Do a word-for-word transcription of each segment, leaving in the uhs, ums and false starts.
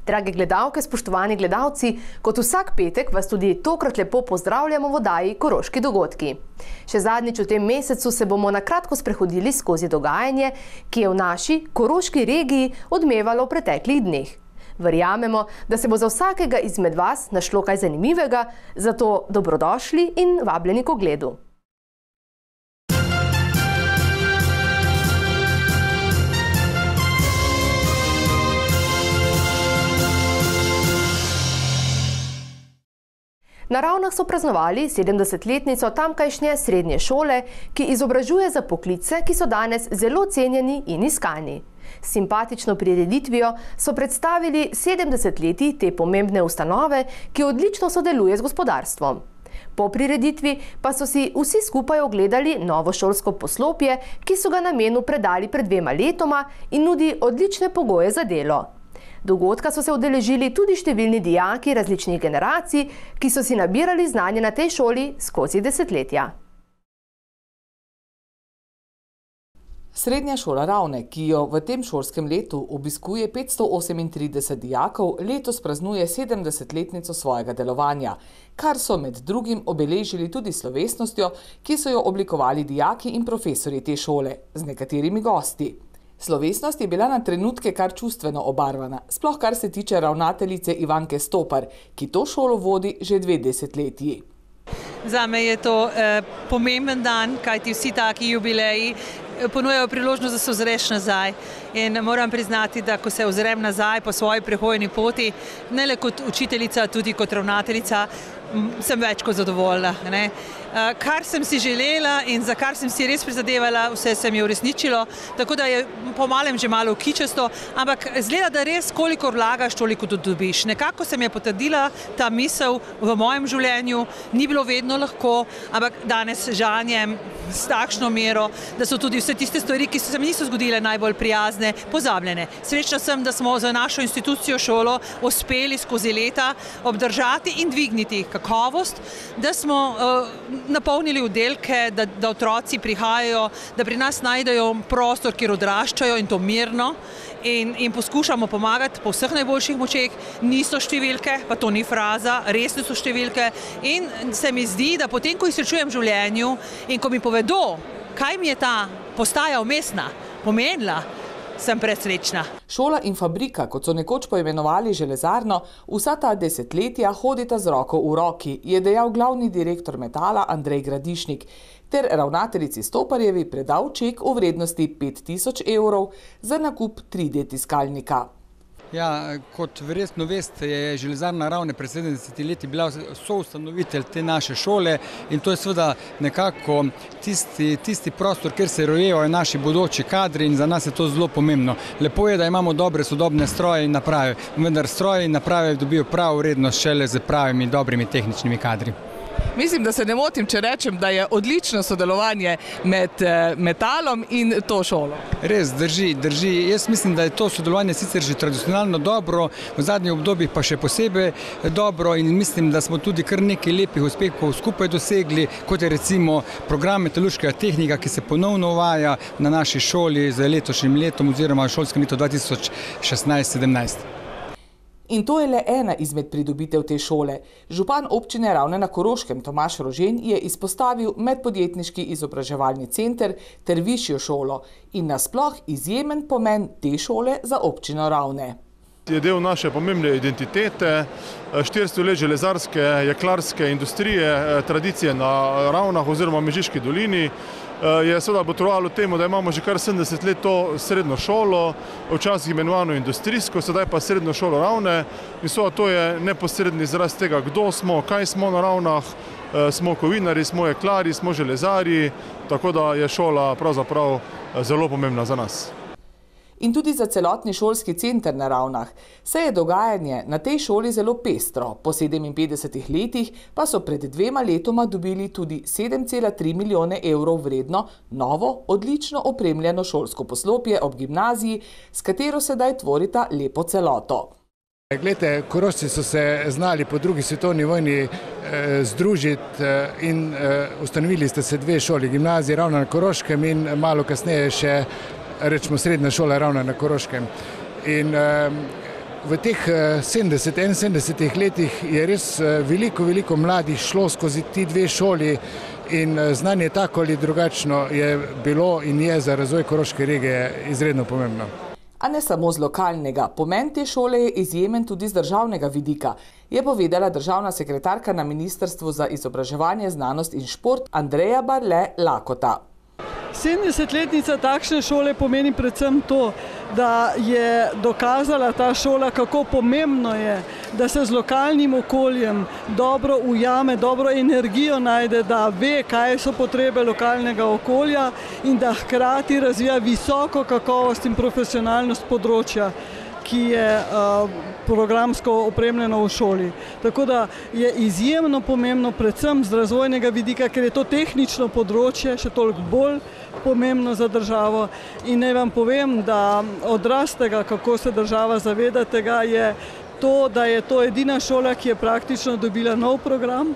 Drage gledalke, spoštovani gledalci, kot vsak petek vas tudi tokrat lepo pozdravljamo v oddaji Koroški dogodki. Še zadnjič v tem mesecu se bomo na kratko sprehodili skozi dogajanje, ki je v naši koroški regiji odmevalo v preteklih dneh. Verjamemo, da se bo za vsakega izmed vas našlo kaj zanimivega, zato dobrodošli in vabljeni k ogledu. Na Ravnah so praznovali sedemdesetletnico tamkajšnje srednje šole, ki izobražuje za poklice, ki so danes zelo cenjeni in iskani. S simpatično prireditvijo so predstavili sedemdeset letij te pomembne ustanove, ki odlično sodeluje z gospodarstvom. Po prireditvi pa so si vsi skupaj ogledali novo šolsko poslopje, ki so ga namenu predali pred dvema letoma in nudi odlične pogoje za delo. Dogodka so se udeležili tudi številni dijaki različnih generacij, ki so si nabirali znanje na tej šoli skozi desetletja. Srednja šola Ravne, ki jo v tem šolskem letu obiskuje petsto osemintrideset dijakov, letos praznuje sedemdesetletnico svojega delovanja, kar so med drugim obeležili tudi slovesnostjo, ki so jo oblikovali dijaki in profesorji te šole z nekaterimi gosti. Slovesnost je bila na trenutke kar čustveno obarvana, sploh kar se tiče ravnateljice Ivanke Stopar, ki to šolo vodi že dve desetletji. Zame je to eh, pomemben dan, kajti vsi taki jubileji ponujajo priložnost, da se ozreš nazaj. In moram priznati, da ko se ozrem nazaj po svoji prehojeni poti, ne le kot učiteljica, tudi kot ravnateljica, sem več kot zadovoljna. Ne? Kar sem si želela in za kar sem si res prizadevala, vse se mi je uresničilo, tako da je po malem že malo kičasto, ampak zgleda, da res koliko vlagaš, toliko tudi dobiš. Nekako se mi je potrdila ta misel v mojem življenju, ni bilo vedno lahko, ampak danes žanjem s takšno mero, da so tudi vse tiste stvari, ki se mi niso zgodile najbolj prijazne, pozabljene. Srečna sem, da smo za našo institucijo šolo uspeli skozi leta obdržati in dvigniti kakovost, da smo uh, napolnili oddelke, da, da otroci prihajajo, da pri nas najdejo prostor, kjer odraščajo in to mirno in, in poskušamo pomagati po vseh najboljših močeh. Niso številke, pa to ni fraza, resne so številke in se mi zdi, da potem, ko jih srečujem v življenju in ko mi povedo, kaj mi je ta postaja vmesna pomenila, sem presrečna. Šola in fabrika, kot so nekoč poimenovali železarno, vsa ta desetletja hodita z roko v roki, je dejal glavni direktor Metala Andrej Gradišnik, ter ravnateljici Stoparjevi predal ček v vrednosti pet tisoč evrov za nakup tri D tiskalnika. Ja, kot verjetno veste, je železarna Ravne pred sedemdesetimi leti bila soustanovitelj te naše šole in to je seveda nekako tisti, tisti prostor, kjer se rojevajo naši bodoči kadri in za nas je to zelo pomembno. Lepo je, da imamo dobre sodobne stroje in naprave, vendar stroje in naprave dobijo pravo vrednost šele z pravimi dobrimi tehničnimi kadri. Mislim, da se ne motim, če rečem, da je odlično sodelovanje med Metalom in to šolo. Res, drži, drži. Jaz mislim, da je to sodelovanje sicer že tradicionalno dobro, v zadnjih obdobjih pa še posebej dobro in mislim, da smo tudi kar nekaj lepih uspehov skupaj dosegli, kot je recimo program metalurškega tehnika, ki se ponovno uvaja na naši šoli z letošnjim letom oziroma šolskem letu dva tisoč šestnajst sedemnajst. In to je le ena izmed pridobitev te šole. Župan občine Ravne na Koroškem Tomaž Rožen je izpostavil medpodjetniški izobraževalni center ter višjo šolo in nasploh izjemen pomen te šole za občino Ravne. Je del naše pomembne identitete, štiristo let železarske, jeklarske industrije, tradicije na Ravnah oziroma Mežiški dolini. Je seveda botrovalo temu, da imamo že kar sedemdeset let to srednjo šolo, včasih imenovano industrijsko, sedaj pa srednjo šolo Ravne. In seveda to je neposredni izraz tega, kdo smo, kaj smo na Ravnah, smo kovinari, smo jeklari, smo železari, tako da je šola pravzaprav zelo pomembna za nas. In tudi za celotni šolski center na Ravnah. Se je dogajanje na tej šoli zelo pestro. Po sedeminpetdesetih letih pa so pred dvema letoma dobili tudi sedem cela tri milijone evrov vredno novo, odlično opremljeno šolsko poslopje ob gimnaziji, s katero sedaj tvorita lepo celoto. Glejte, Korošci so se znali po drugi svetovni vojni eh, združiti eh, in eh, ustanovili ste se dve šoli, gimnaziji Ravno na Koroškem in malo kasneje še rečemo srednja šola Ravno na Koroškem. In eh, v teh sedemdesetih, enainsedemdesetih letih je res veliko, veliko mladih šlo skozi ti dve šoli in znanje tako ali drugačno je bilo in je za razvoj koroške regije izredno pomembno. A ne samo z lokalnega. Pomen te šole je izjemen tudi z državnega vidika, je povedala državna sekretarka na Ministrstvu za izobraževanje, znanost in šport Andreja Barle Lakota. sedemdesetletnica takšne šole pomeni predvsem to, da je dokazala ta šola, kako pomembno je, da se z lokalnim okoljem dobro ujame, dobro energijo najde, da ve, kaj so potrebe lokalnega okolja in da hkrati razvija visoko kakovost in profesionalnost področja, ki je uh, programsko opremljeno v šoli. Tako da je izjemno pomembno, predvsem z razvojnega vidika, ker je to tehnično področje še toliko bolj pomembno za državo. In naj vam povem, da odraz tega, kako se država zaveda tega, je to, da je to edina šola, ki je praktično dobila nov program.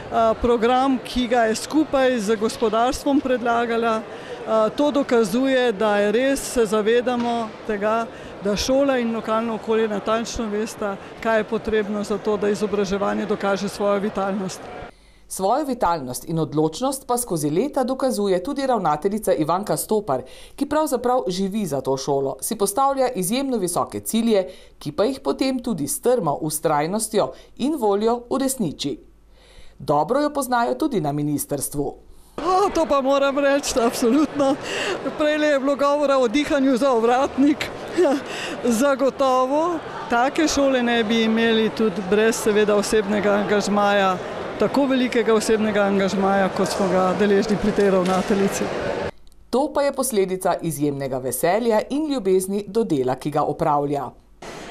Uh, program, ki ga je skupaj z gospodarstvom predlagala. Uh, to dokazuje, da je res se zavedamo tega, da šola in lokalno okolje natančno vesta, kaj je potrebno za to, da izobraževanje dokaže svojo vitalnost. Svojo vitalnost in odločnost pa skozi leta dokazuje tudi ravnateljica Ivanka Stopar, ki pravzaprav živi za to šolo, si postavlja izjemno visoke cilje, ki pa jih potem tudi strmo vztrajnostjo in voljo uresniči. Dobro jo poznajo tudi na ministrstvu. O, to pa moram reči, absolutno. Prej je bilo govora o dihanju za ovratnik. Zagotovo take šole ne bi imeli tudi brez seveda osebnega angažmaja, tako velikega osebnega angažmaja, kot smo ga deležni pri tej ravnateljici. To pa je posledica izjemnega veselja in ljubezni do dela, ki ga opravlja.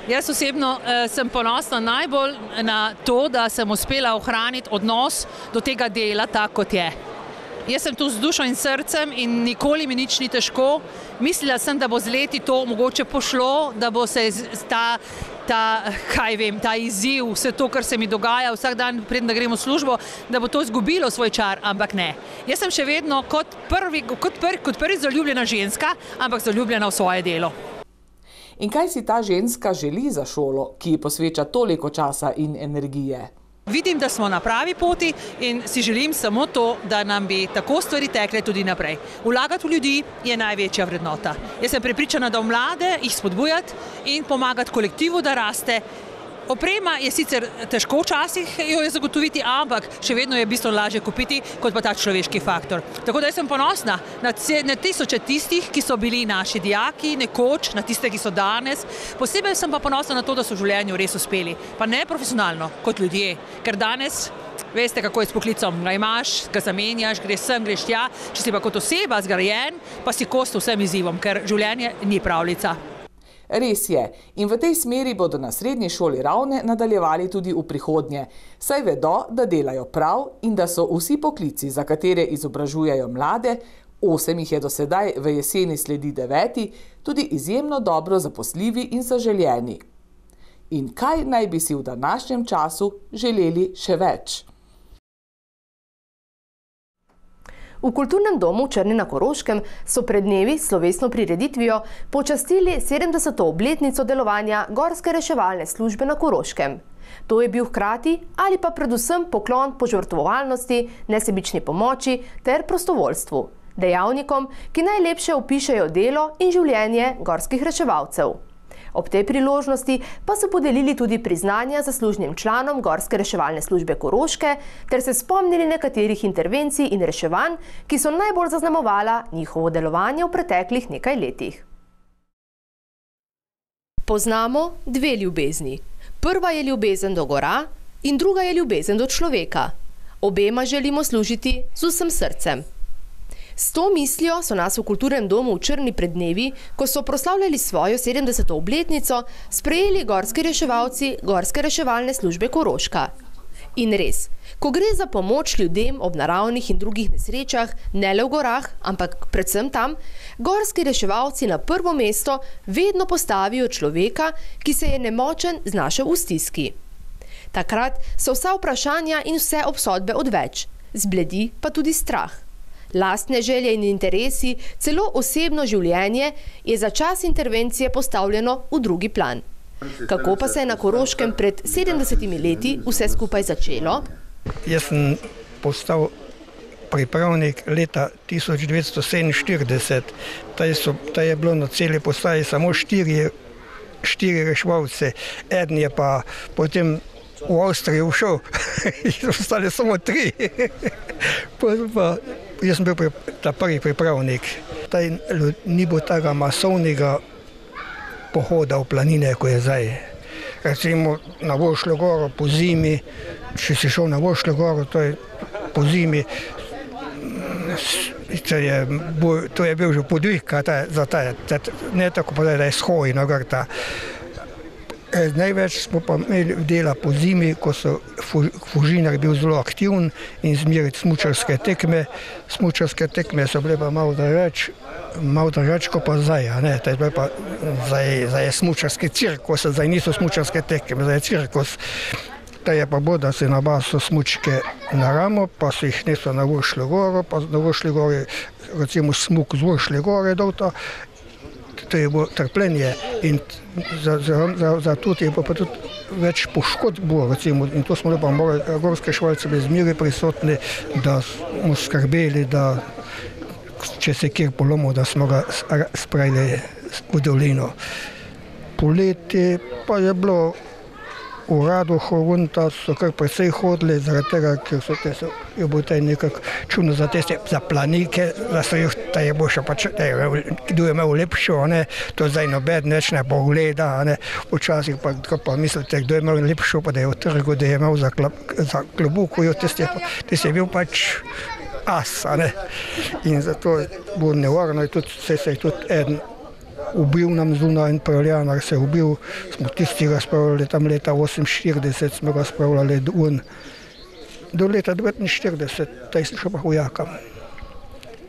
Jaz osebno eh, sem ponosna najbolj na to, da sem uspela ohraniti odnos do tega dela tako, kot je. Jaz sem tu z dušo in srcem in nikoli mi nič ni težko. Mislila sem, da bo z leti to mogoče pošlo, da bo se ta, ta, kaj vem, ta izziv, vse to, kar se mi dogaja vsak dan, preden da grem v službo, da bo to izgubilo svoj čar, ampak ne. Jaz sem še vedno kot prvi, kot prvi, kot prvi zaljubljena ženska, ampak zaljubljena v svoje delo. In kaj si ta ženska želi za šolo, ki ji posveča toliko časa in energije? Vidim, da smo na pravi poti in si želim samo to, da nam bi tako stvari tekle tudi naprej. Vlagati v ljudi je največja vrednota. Jaz sem prepričana, da v mlade jih spodbujati in pomagati kolektivu, da raste. Oprema je sicer težko včasih jo je zagotoviti, ampak še vedno je bistveno lažje kupiti, kot pa ta človeški faktor. Tako da jaz sem ponosna na, na tisoče tistih, ki so bili naši dijaki nekoč, na tiste, ki so danes. Posebej sem pa ponosna na to, da so v življenju res uspeli. Pa ne profesionalno, kot ljudje. Ker danes, veste, kako je s poklicom. Ga imaš, ga zamenjaš, greš sem, greš tja. Če si pa kot oseba zgrajen, pa si kost vsem izzivom, ker življenje ni pravljica. Res je. In v tej smeri bodo na Srednji šoli Ravne nadaljevali tudi v prihodnje. Saj vedo, da delajo prav in da so vsi poklici, za katere izobražujejo mlade, osem jih je do sedaj, v jeseni sledi deveti, tudi izjemno dobro zaposljivi in zaželjeni. In kaj naj bi si v današnjem času želeli še več? V Kulturnem domu v Črni na Koroškem so pred dnevi s slovesno prireditvijo počastili sedemdeseto obletnico delovanja Gorske reševalne službe na Koroškem. To je bil hkrati ali pa predvsem poklon požrtvovalnosti, nesebični pomoči ter prostovoljstvu, dejavnikom, ki najlepše opišejo delo in življenje gorskih reševalcev. Ob tej priložnosti pa so podelili tudi priznanja zaslužnim članom Gorske reševalne službe Koroške ter se spomnili nekaterih intervencij in reševanj, ki so najbolj zaznamovala njihovo delovanje v preteklih nekaj letih. Poznamo dve ljubezni. Prva je ljubezen do gora in druga je ljubezen do človeka. Obema želimo služiti z vsem srcem. S to mislijo so nas v Kulturnem domu v Črni pred dnevi, ko so proslavljali svojo sedemdeseto obletnico, sprejeli gorski reševalci Gorske reševalne službe Koroška. In res, ko gre za pomoč ljudem ob naravnih in drugih nesrečah, ne le v gorah, ampak predvsem tam, gorski reševalci na prvo mesto vedno postavijo človeka, ki se je nemočen znašel v stiski. Takrat so vsa vprašanja in vse obsodbe odveč, zbledi pa tudi strah. Lastne želje in interesi, celo osebno življenje je za čas intervencije postavljeno v drugi plan. Kako pa se je na Koroškem pred sedemdesetimi leti vse skupaj začelo? Jaz sem postal pripravnik leta tisoč devetsto sedeminštirideset. Ta je bilo na celi postaji samo štiri, štiri reševalce. Eden je pa potem v Avstrijo všel, ostali samo tri. Pa, jaz sem bil ta prvi pripravnik. Taj, ni bilo tega masovnega pohoda v planine, ko je zdaj. Recimo na Vošljo goro po zimi, če si šel na Vošljo goro, to je po zimi, to je, to je bil že podvig za ta, ne tako pa da je shoj na grta. Največ smo pa imeli dela po zimi, ko so Fužinar bil zelo aktivn in zmeriti smučarske tekme. Smučarske tekme so bile pa malo drugač, malo drugač kot pa zdaj, a ne, to je pa zdaj, zdaj je smučarski cirkus, zdaj niso smučarske tekme, zdaj je cirkus. Ta je pa bo, da se nabaso smučke na ramo, pa se jih neso na Vošljo goro, pa na Vošlji gori, recimo smuk z Vošlje gore dol to. To je bilo trpljenje in za, za, za, za tudi je pa tudi več poškodb bilo, recimo, in to smo lepa morali, gorske švalce bili zmeri prisotni, da smo skrbeli, da če se kjer polomil, da smo ga spravili v dolino. Poleti pa je bilo v Radohu, Runta so kar precej hodili, zaradi tega, ker so te, so, je bilo taj nekako čudno za teste, za planike, da so jih, da je bo še pač, da je, kdo je imel lepšo, ne, to zdaj nobed neč ne pogleda, ne, včasih pa, pa mislite, kdo je imel lepšo, pa da je v trgu, da je imel za, klab, za klobuko, jo teste, teste je bil pač as, ne, in zato bo nevarno, in tudi se je tudi eden ubil nam zunaj in pravljanar se je ubil, smo tisti razpravljali tam leta oseminštirideset, smo razpravljali do, do leta devetinštirideset, taj sem šel pa vojakam.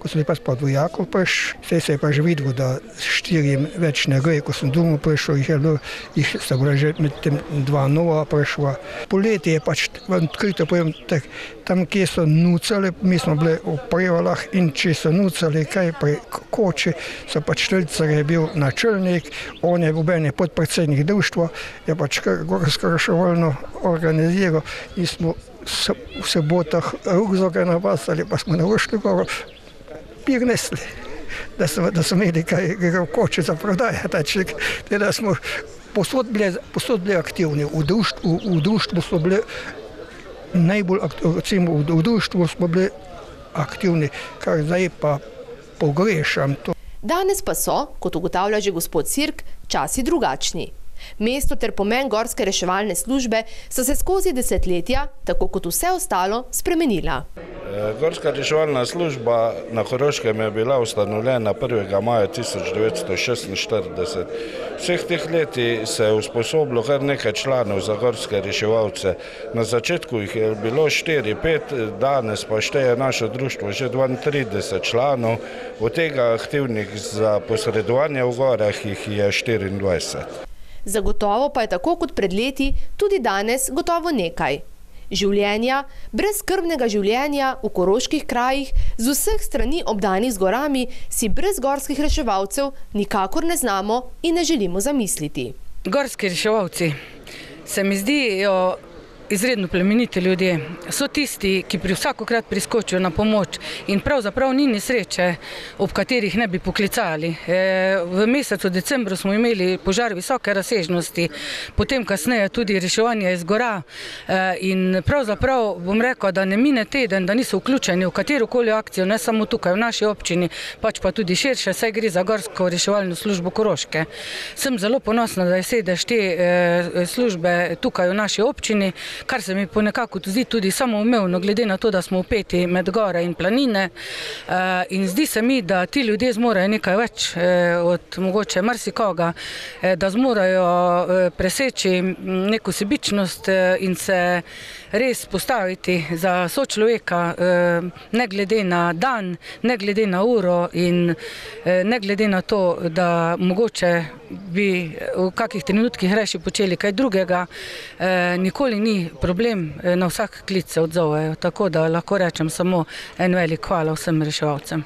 Ko sem pa spod vojakov prišel, se je pa že videl, da štirim več ne gre, ko sem domov prišel, jih je bilo, jih sta bila že med tem dva nova prišla. Poleti je pač odkrito povem, tak, tam kje so nucali, mi smo bili v Prevalah in če so nucali kaj pri koči, so pač Štelcar je bil načelnik, on je bil meni podpredsednik društva, je pač gorsko reševalno organiziral in smo v sobotah rukzake napasali, pa smo na Vošljo goro prinesli, da so, da so imeli kaj, kaj koče za prodajati. Da smo posod bili, posod bili aktivni. V društvu, v, v društvu smo bili najbolj aktivni, v, v društvu smo bili aktivni, kar zdaj pa pogrešam. To. Danes pa so, kot ugotavlja že gospod Sirk, časi drugačni. Mesto ter pomen gorske reševalne službe so se skozi desetletja, tako kot vse ostalo, spremenila. Gorska reševalna služba na Koroškem je bila ustanovljena prvega maja tisoč devetsto šestinštirideset. Vseh teh leti se je usposobilo kar nekaj članov za gorske reševalce. Na začetku jih je bilo štiri, pet, danes pa šteje naše društvo že dvaintrideset članov, od tega aktivnih za posredovanje v gorah jih je štiriindvajset. Zagotovo pa je tako kot pred leti tudi danes gotovo nekaj. Življenja, brezskrbnega življenja v koroških krajih, z vseh strani obdanih z gorami, si brez gorskih reševalcev nikakor ne znamo in ne želimo zamisliti. Gorski reševalci se mi zdijo izredno plemeniti ljudje. So tisti, ki pri vsakokrat priskočijo na pomoč in pravzaprav ni nesreče, ob katerih ne bi poklicali. V mesecu decembru smo imeli požar visoke razsežnosti, potem kasneje tudi reševanje iz gora in pravzaprav bom rekel, da ne mine teden, da niso vključeni v katerokoli akcijo, ne samo tukaj v naši občini, pač pa tudi širše, saj gre za gorsko reševalno službo Koroške. Sem zelo ponosna, da je sedež te službe tukaj v naši občini, kar se mi ponekako zdi tudi samoumevno, glede na to, da smo vpeti med gore in planine. In zdi se mi, da ti ljudje zmorajo nekaj več od mogoče marsikoga, da zmorajo preseči neko sebičnost in se res postaviti za sočloveka, ne glede na dan, ne glede na uro in ne glede na to, da mogoče bi v kakih trenutkih reši počeli kaj drugega, nikoli ni problem, na vsak klic se odzovejo, tako da lahko rečem samo en velik hvala vsem reševalcem.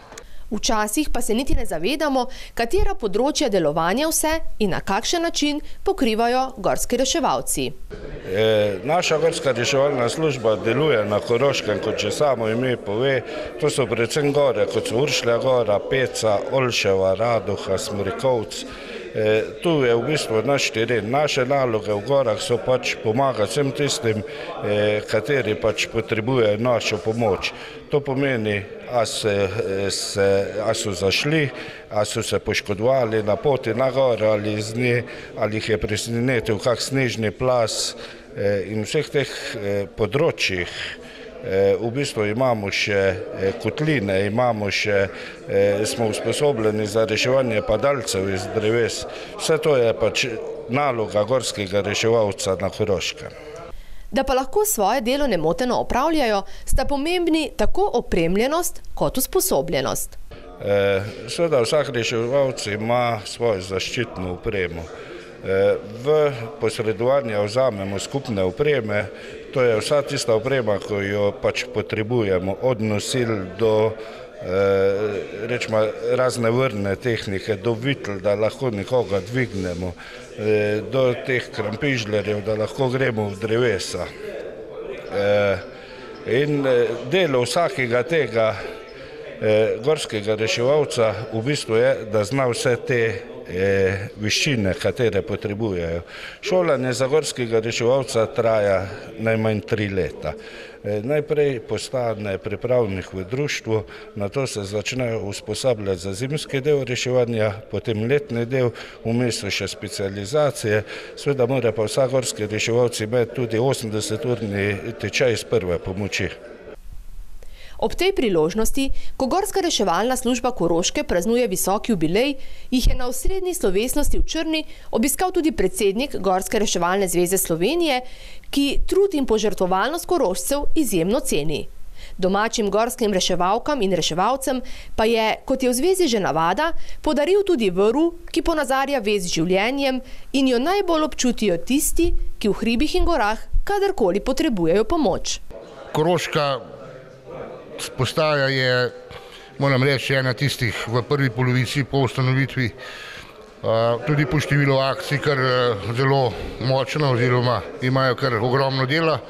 Včasih pa se niti ne zavedamo, katera področja delovanja vse in na kakšen način pokrivajo gorski reševalci. E, naša gorska reševalna služba deluje na Koroškem, kot že samo ime pove. To so predvsem gore, kot so Uršlja gora, Peca, Olševa, Radoha, Smrekovc. E, tu je v bistvu naš teren. Naše naloge v gorah so pač pomagati vsem tistim, e, kateri pač potrebujejo našo pomoč. To pomeni, a, se, se, a so zašli, a so se poškodovali na poti na gore ali z nje, ali jih je presenetil kak snežni plas, e, in vseh teh e, področjih. V bistvu imamo še kotline, imamo še, smo usposobljeni za reševanje padalcev iz dreves. Vse to je pač naloga gorskega reševalca na Koroškem. Da pa lahko svoje delo nemoteno opravljajo, sta pomembni tako opremljenost kot usposobljenost. Seveda vsak reševalc ima svojo zaščitno opremo. V posredovanje vzamemo skupne opreme, to je vsa tista oprema, ko jo pač potrebujemo, od nosil do rečemo razne vrne tehnike, do vitl, da lahko nekoga dvignemo, do teh krampižlerjev, da lahko gremo v drevesa. In delo vsakega tega gorskega reševalca v bistvu je, da zna vse te veščine, katere potrebujejo. Šolanje za gorskega reševalca traja najmanj tri leta. Najprej postane pripravnik v društvu, nato se začnejo usposabljati za zimski del reševanja, potem letni del, vmes so še specializacije. Seveda mora pa vsak gorski reševalci imeti tudi osemdeseturni tečaj iz prve pomoči. Ob tej priložnosti, ko Gorska reševalna služba Koroške praznuje visoki jubilej, jih je na osrednji slovesnosti v Črni obiskal tudi predsednik Gorske reševalne zveze Slovenije, ki trud in požrtvovalnost Korošcev izjemno ceni. Domačim gorskim reševalkam in reševalcem pa je, kot je v zvezi že navada, podaril tudi vrv, ki ponazarja vez z življenjem in jo najbolj občutijo tisti, ki v hribih in gorah kadarkoli potrebujejo pomoč. Koroška postaja je, moram reči, ena tistih v prvi polovici po ustanovitvi, tudi po številu akcij kar zelo močna oziroma imajo kar ogromno dela.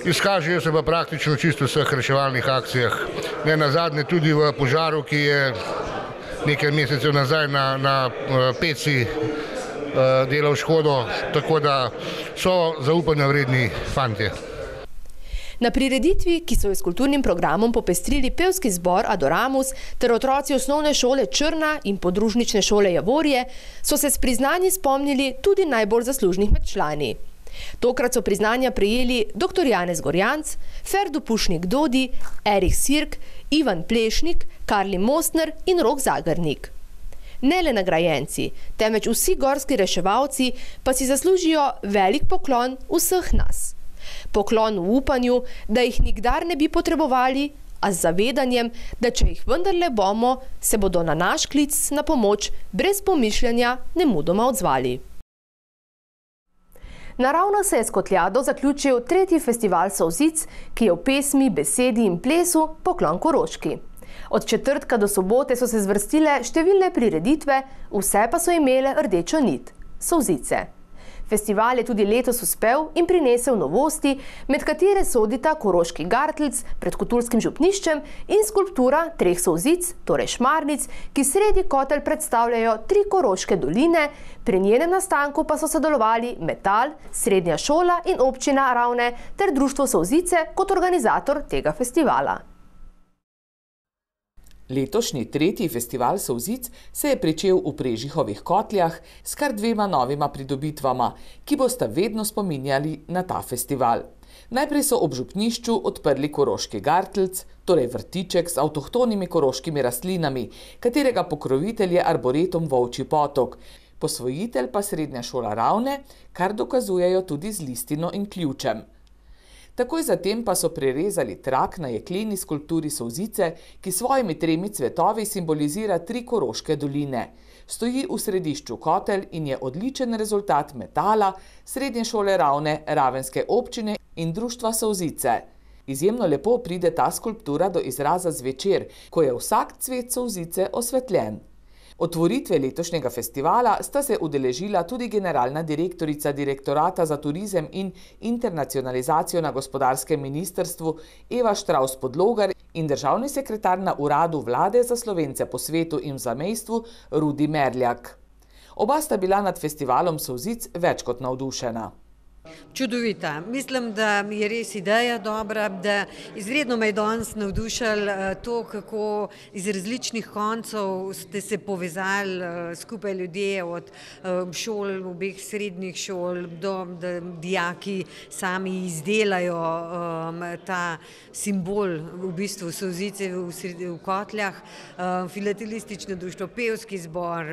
Izkažejo se pa praktično čisto vseh reševalnih akcijah. Ne nazadnje tudi v požaru, ki je nekaj mesecev nazaj na, na Peci delal škodo, tako da so zaupanja vredni fantje. Na prireditvi, ki so jo s kulturnim programom popestrili pevski zbor Adoramus ter otroci osnovne šole Črna in podružnične šole Javorje, so se s priznanji spomnili tudi najbolj zaslužnih med člani. Tokrat so priznanja prejeli doktor Janez Gorjanc, Ferdo Pušnik Dodi, Erik Sirk, Ivan Plešnik, Karli Mostner in Rok Zagrnik. Ne le nagrajenci, temveč vsi gorski reševalci pa si zaslužijo velik poklon vseh nas. Poklon v upanju, da jih nikdar ne bi potrebovali, a z zavedanjem, da če jih vendarle bomo, se bodo na naš klic na pomoč brez pomišljanja nemudoma odzvali. Naravno se je s Kotljado zaključil tretji festival solzic, ki je v pesmi, besedi in plesu poklon Koroški. Od četrtka do sobote so se zvrstile številne prireditve, vse pa so imele rdečo nit – solzice. Festival je tudi letos uspel in prinesel novosti, med katere sodita Koroški gartlc pred Koturskim župniščem in skulptura treh solzic, torej šmarnic, ki sredi kotelj predstavljajo tri koroške doline, pri njenem nastanku pa so sodelovali Metal, Srednja šola in občina Ravne ter Društvo solzice kot organizator tega festivala. Letošnji tretji festival solzic se je pričel v Prežihovih Kotljah s kar dvema novima pridobitvama, ki bosta vedno spominjali na ta festival. Najprej so ob župnišču odprli Koroški gartlc, torej vrtiček z avtohtonimi koroškimi rastlinami, katerega pokrovitelj je arboretum Volčji potok, posvojitelj pa Srednja šola Ravne, kar dokazujejo tudi z listino in ključem. Takoj zatem pa so prerezali trak na jekleni skulpturi solzice, ki svojimi tremi cvetovi simbolizira tri koroške doline. Stoji v središču kotelj in je odličen rezultat Metala, Srednje šole Ravne, Ravenske občine in Društva solzice. Izjemno lepo pride ta skulptura do izraza zvečer, ko je vsak cvet solzice osvetljen. Otvoritve letošnjega festivala sta se udeležila tudi generalna direktorica Direktorata za turizem in internacionalizacijo na gospodarskem ministrstvu Eva Štravs-Podlogar in državni sekretar na uradu vlade za Slovence po svetu in v zamejstvu Rudi Merljak. Oba sta bila nad festivalom solzic več kot navdušena. Čudovita. Mislim, da je res ideja dobra, da izredno me je danes navdušalo to, kako iz različnih koncev ste se povezali skupaj ljudje od šol, obeh srednjih šol, do da dijaki sami izdelajo ta simbol v bistvu solzice v Kotljah, filatelistično društvo, pevski zbor,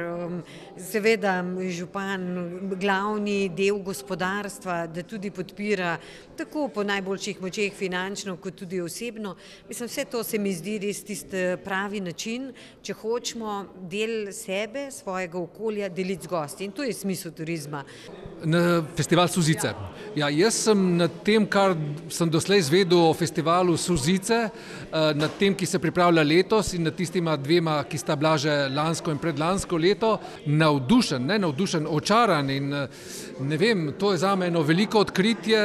seveda župan, glavni del gospodarstva, da tudi podpira tako po najboljših močeh finančno, kot tudi osebno. Mislim, vse to se mi zdi res tisti pravi način, če hočemo del sebe, svojega okolja deliti z gosti. In to je smisel turizma. Na festival Solzice. Ja, jaz sem na tem, kar sem doslej izvedel o festivalu Solzice, na tem, ki se pripravlja letos in na tistima dvema, ki sta bila že lansko in predlansko leto, navdušen, ne navdušen, očaran in ne vem, to je zame eno veliko odkritje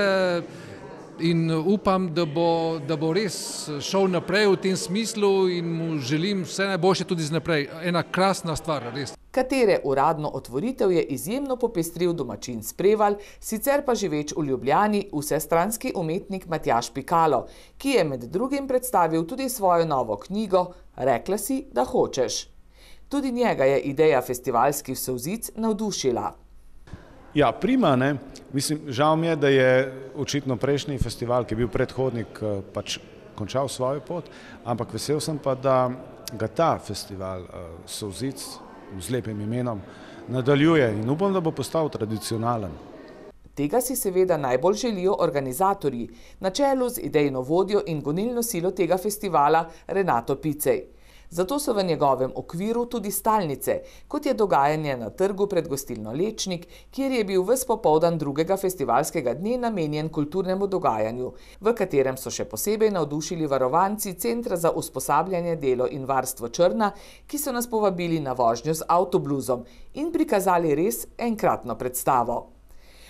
in upam, da bo, da bo res šel naprej v tem smislu in mu želim vse najboljše tudi naprej. Ena krasna stvar, res. Katere uradno otvoritev je izjemno popestril domačin Spreval, sicer pa živeč v Ljubljani vsestranski umetnik Matjaž Pikalo, ki je med drugim predstavil tudi svojo novo knjigo Rekla si, da hočeš. Tudi njega je ideja festivalskih solzic navdušila. Ja, prima, ne. Mislim, žal mi je, da je očitno prejšnji festival, ki je bil predhodnik, pač končal svojo pot, ampak vesel sem pa, da ga ta festival solzic z lepim imenom nadaljuje in upam, da bo postal tradicionalen. Tega si seveda najbolj želijo organizatorji, na čelu z idejno vodjo in gonilno silo tega festivala Renato Picej. Zato so v njegovem okviru tudi stalnice, kot je dogajanje na trgu pred gostilno Lečnik, kjer je bil ves popoldan drugega festivalskega dne namenjen kulturnemu dogajanju, v katerem so še posebej navdušili varovanci Centra za usposabljanje, delo in varstvo Črna, ki so nas povabili na vožnjo z avtobluzom in prikazali res enkratno predstavo.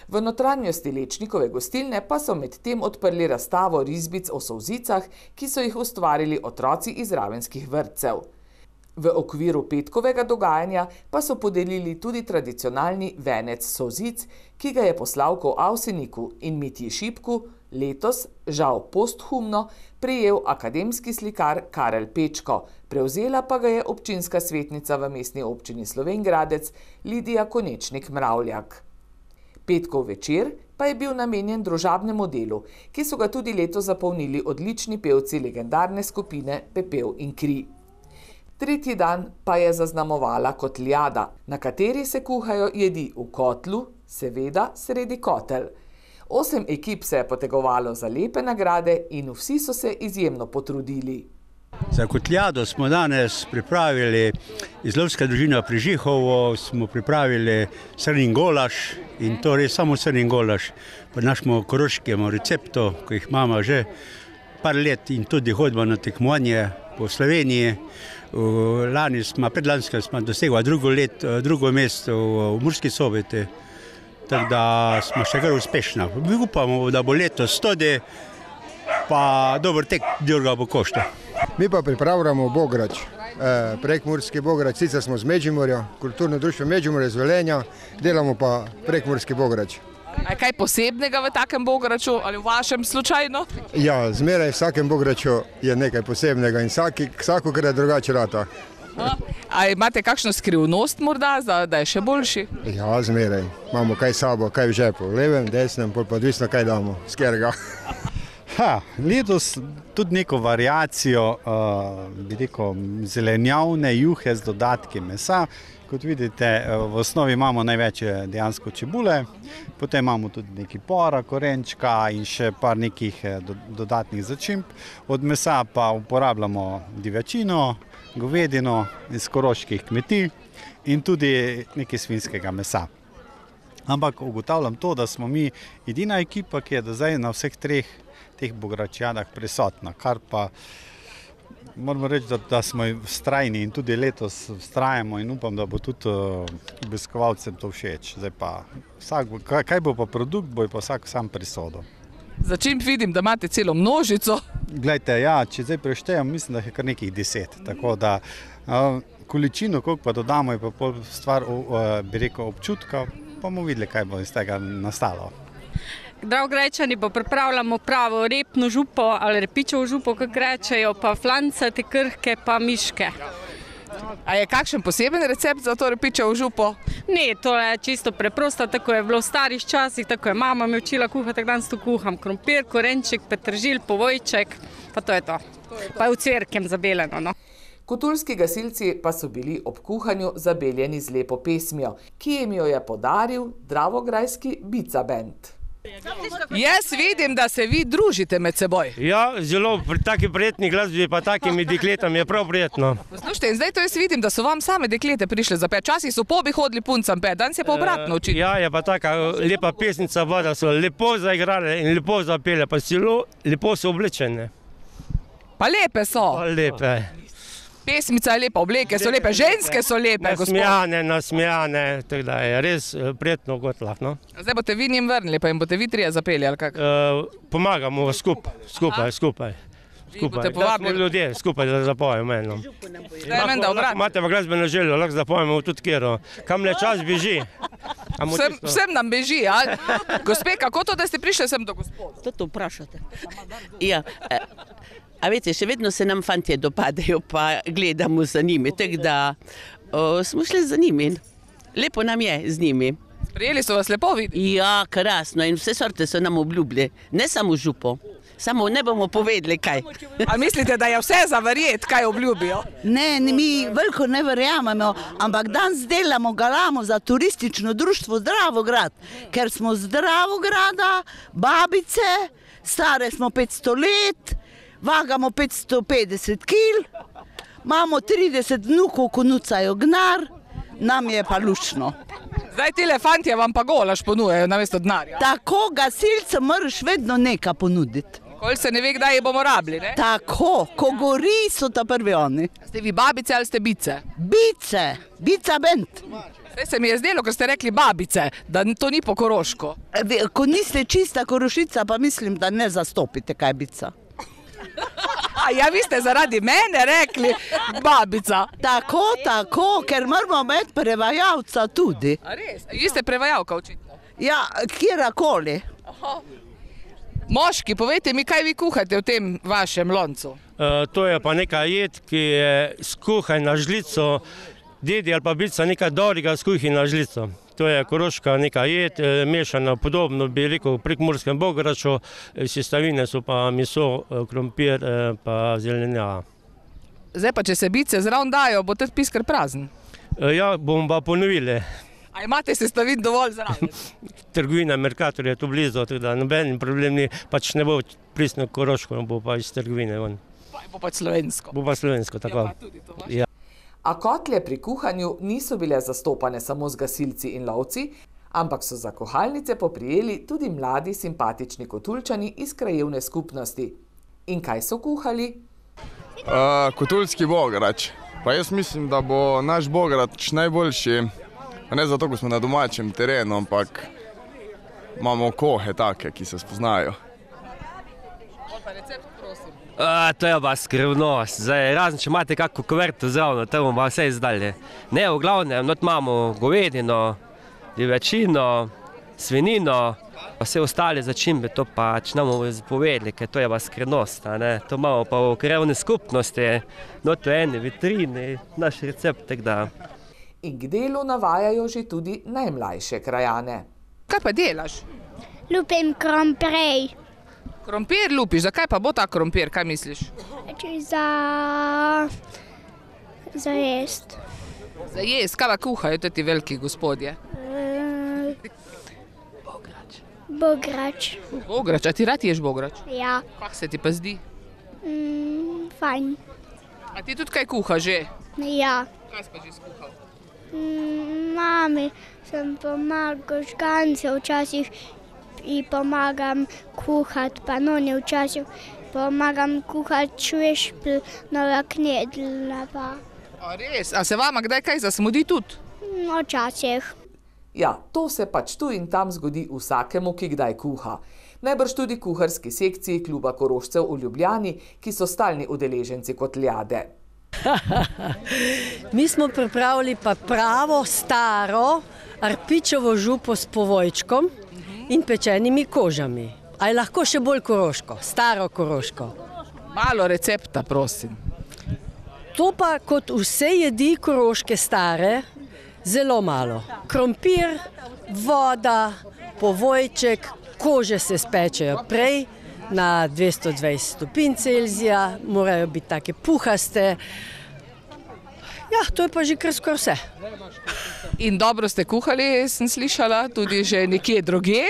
V notranjosti Lečnikove gostilne pa so med tem odprli razstavo risbic o solzicah, ki so jih ustvarili otroci iz ravenskih vrtcev. V okviru petkovega dogajanja pa so podelili tudi tradicionalni venec solzic, ki ga je po Slavku Avseniku in Mitji Šipku letos, žal posthumno, prejel akademski slikar Karel Pečko, prevzela pa ga je občinska svetnica v mestni občini Slovenj Gradec Lidija Konečnik-Mravljak. Petkov večer pa je bil namenjen družabnemu delu, ki so ga tudi letos zapolnili odlični pevci legendarne skupine Pepel in kri. Tretji dan pa je zaznamovala kotljada, na kateri se kuhajo jedi v kotlu, seveda sredi kotel. Osem ekip se je potegovalo za lepe nagrade in vsi so se izjemno potrudili. Za kotljado smo danes pripravili iz lovska družina pri Žihovo, smo pripravili srnin golaž in to res samo srnin golaž po našemu koroškemu receptu, ko jih imamo že par let in tudi hodimo na tekmovanje po Sloveniji. Lani smo, predlansko smo dosegli drugo, let, drugo mesto v Murski Soboti, tako da smo še kar uspešni. Upamo, da bo letos tudi pa dober tek Đurga bo košta. Mi pa pripravljamo bograč, prekmurski bograč, sicer smo z Međimurja, kulturno društvo Međimurja iz Velenja, delamo pa prekmurski bograč. A kaj posebnega v takem bograču ali v vašem slučajno? Ja, zmeraj v vsakem bograču je nekaj posebnega in vsakokrat drugače rata. A imate kakšno skrivnost morda, da je še boljši? Ja, zmeraj. Imamo kaj sabo, kaj v žepu, v levem, desnem, pa odvisno kaj damo, s katerega. Ha, letos tudi neko variacijo, bi rekel, zelenjavne juhe z dodatki mesa. Kot vidite, v osnovi imamo največ dejansko čebule, potem imamo tudi neki pora, korenčka in še par nekih dodatnih začimb. Od mesa pa uporabljamo divjačino, govedino iz koroških kmetij in tudi nekaj svinjskega mesa. Ampak ugotavljam to, da smo mi edina ekipa, ki je do zdaj na vseh treh teh bogračjadah prisotna, kar pa moramo reči, da, da smo vztrajni in tudi letos vztrajamo in upam, da bo tudi obiskovalcem to všeč. Zdaj pa, vsak, kaj bo pa produkt, bo pa vsak sam prisodil. Za čim vidim, da imate celo množico? Glejte, ja, če zdaj preštejem, mislim, da je kar nekih deset, tako da uh, količino, koliko pa dodamo, je pa pol stvar, uh, bi rekel, občutka, pa bomo videli, kaj bo iz tega nastalo. Dravograjčani pa pripravljamo pravo repno župo ali repičevo župo, kako rečejo, pa flancate, krhke, pa miške. A je kakšen poseben recept za to repičevo župo? Ne, to je čisto preprosto, tako je bilo v starih časih, tako je mama me učila kuhati, tako danes to kuham. Krompir, korenček, petržil, povojček, pa to je to. Pa je v cverkem zabeleno, no. Kotulski gasilci pa so bili ob kuhanju zabeljeni z lepo pesmijo, ki jim jo je podaril dravograjski Bica band. Jaz vidim, da se vi družite med seboj. Ja, zelo pri taki prijetni glasbi pa takimi dekletami je prav prijetno. Poslušajte, in zdaj to jaz vidim, da so vam same deklete prišle za pet. Včasih so pobi hodili puncam pet, danes je pa obratno očitno. Ja, je pa taka lepa pesnica, da so lepo zaigrale in lepo zapele, pa zelo lepo so oblečene. Pa lepe so. Pa lepe. Pesmica je lepa, obleke so lepe, ženske so lepe, gospod. Nasmejane, nasmejane, tako da je res prijetno gotlah, no. Zdaj boste vi njim vrnili, pa jim boste vi trije zapeli, ali kak? Pomagamo skupaj, skupaj, skupaj. Skupaj, da smo ljudje, skupaj da zapojemo eno. Da je menda obratno. Imate pa glasbeno željo, lahko zapojemo tudi kjero. Kam le čas beži. Vsem nam beži, ali? Gospe, kako to, da ste prišli sem do gospoda? To to vprašate. Ja, a veste, še vedno se nam fantje dopadajo, pa gledamo za njimi, tako da smo šli za njimi. Lepo nam je z njimi. Prijeli so vas lepo videti? Ja, krasno in vse sorte so nam obljubili, ne samo župo. Samo ne bomo povedali, kaj. A mislite, da je vse za verjet, kaj obljubijo? Ne, mi veliko ne verjamemo, ampak danes delamo, galamo za turistično društvo Dravograd, ker smo z Dravograda, babice, stare smo petsto let, vagamo petsto petdeset kil, imamo trideset vnukov, ko nucajo gnar, nam je pa lušno. Zdaj tile fantje vam pa golaž ponujejo namesto denarja. Tako, gasilcem moraš vedno nekaj ponuditi. Nikoli se ne ve, kdaj je bomo rabili, ne? Tako, ko gori, so ta prvi oni. Ste vi babice ali ste bice? Bice, Bica band. Zdaj se mi je zdelo, ker ste rekli babice, da to ni po koroško. Ko niste čista Korošica, pa mislim, da ne zastopite, kaj je bica. A ja, vi ste zaradi mene rekli babica. Tako, tako, ker moramo imeti prevajalca tudi. A res? Vi ste prevajalka očitno? Ja, kjerakoli. Moški, povejte mi, kaj vi kuhate v tem vašem loncu? To je pa neka jed, ki je skuhaj na žlico, dedi ali pa bica nekaj dobrega skuhi na žlico. To je koroška neka jed, mešana podobno, bi rekel, v prekmurskem bograču, sestavine so pa meso, krompir pa zelenjava. Zdaj pa, če se bice zraven dajo, bo tudi piskar prazen? Ja, bomo pa ponovili. A imate sestavin dovolj zraven? Trgovina Mercator je tu blizu, tako da noben problem ni, pač ne bo pristno koroško, bo pa iz trgovine ven. Pa bo pač slovensko. Bo pa slovensko, tako. Ja, A kotlje pri kuhanju niso bile zastopane samo z gasilci in lovci, ampak so za kuhalnice poprijeli tudi mladi simpatični Kotulčani iz krajevne skupnosti. In kaj so kuhali? Uh, Kotulski bograč. Pa jaz mislim, da bo naš bograč najboljši, ne zato, ko smo na domačem terenu, ampak imamo kohe take, ki se spoznajo. A, to je pa skrivnost. Zdaj, razen, če imate kakšno kuverto zravno, to bomo pa vse izdali. Ne, v glavnem, not imamo govedino, divjačino, svinino, pa vse ostale začimbe, to pa če nam bomo povedali, ker to je pa skrivnost, a ne. To imamo pa v krajevni skupnosti, not v eni vitrini, naš recept, tak da. In k delu navajajo že tudi najmlajše krajane. Kaj pa delaš? Lupim krompir. Krompir lupiš, zakaj pa bo ta krompir, kaj misliš? Za... za jest. Za jest, kaj pa kuhajo ti veliki gospodje? Bograč. Bograč. Bograč, a ti rad ješ bograč? Ja. Kak se ti pa zdi? Mm, fajn. A ti tudi kaj kuha že? Ja. Kaj si pa že skuhal? Mm, mami sem pomagal žgance včasih in pomagam kuhati, pa noni včasih pomagam kuhati švešpl, nova knedla pa. A res? A se vama kdaj kaj zasmudi tudi? No, včasih. Ja, to se pač tu in tam zgodi vsakemu, ki kdaj kuha. Najbrž tudi kuharski sekciji kluba Korošcev v Ljubljani, ki so stalni udeleženci Kotljade. Mi smo pripravili pa pravo, staro arpičevo župo s povojčkom in pečenimi kožami. A je lahko še bolj koroško, staro koroško. Malo recepta, prosim. To pa kot vse jedi koroške stare, zelo malo. Krompir, voda, povojček, kože se spečejo prej na dvesto dvajset stopinj Celzija, morajo biti take puhaste. Ja, to je pa že kar skoraj vse. In dobro ste kuhali, sem slišala, tudi že nekje drugje?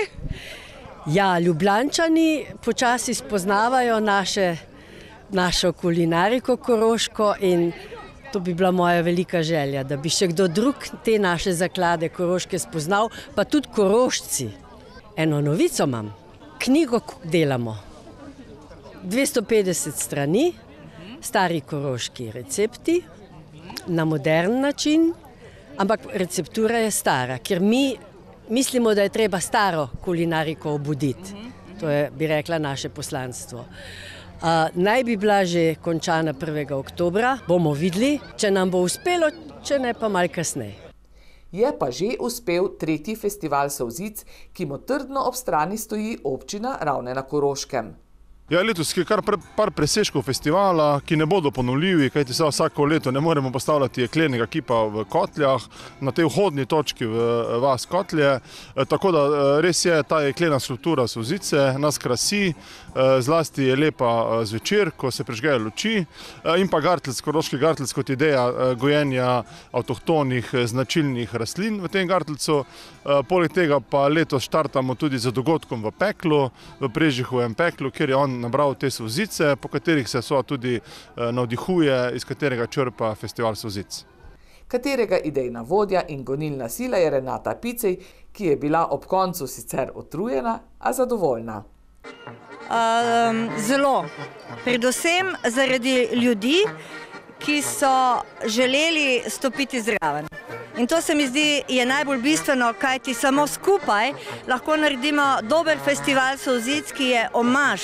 Ja, Ljubljančani počasi spoznavajo naše, našo kulinariko koroško in to bi bila moja velika želja, da bi še kdo drug te naše zaklade koroške spoznal, pa tudi Korošci. Eno novico imam, knjigo delamo, dvesto petdeset strani, stari koroški recepti, na modern način, ampak receptura je stara, ker mi mislimo, da je treba staro kulinariko obuditi. To je, bi rekla, naše poslanstvo. Uh, naj bi bila že končana prvega oktobra, bomo videli, če nam bo uspelo, če ne pa malo kasneje. Je pa že uspel tretji festival solzic, ki mu trdno ob strani stoji občina Ravne na Koroškem. Ja, letos je kar par presežkov festivala, ki ne bodo ponovljivi, kajti se vsako leto ne moremo postavljati jeklenega kipa v Kotljah, na tej vhodni točki v vas Kotlje. Tako da res je ta jeklena struktura solzice, nas krasi, zlasti je lepa zvečer, ko se prižgejo luči, in pa gartlc, koroški gartlc kot ideja gojenja avtohtonih značilnih rastlin v tem gartlcu. Poleg tega pa letos štartamo tudi z dogodkom v Peklu, v Prežihovem Peklu, kjer je on nabral te solzice, po katerih se so tudi navdihuje, iz katerega črpa festival solzic. Katerega idejna vodja in gonilna sila je Renata Picej, ki je bila ob koncu sicer utrujena, a zadovoljna. Um, zelo. Predvsem zaradi ljudi, ki so želeli stopiti zraven. In to se mi zdi je najbolj bistveno, kajti samo skupaj lahko naredimo dober festival solzic, ki je omaž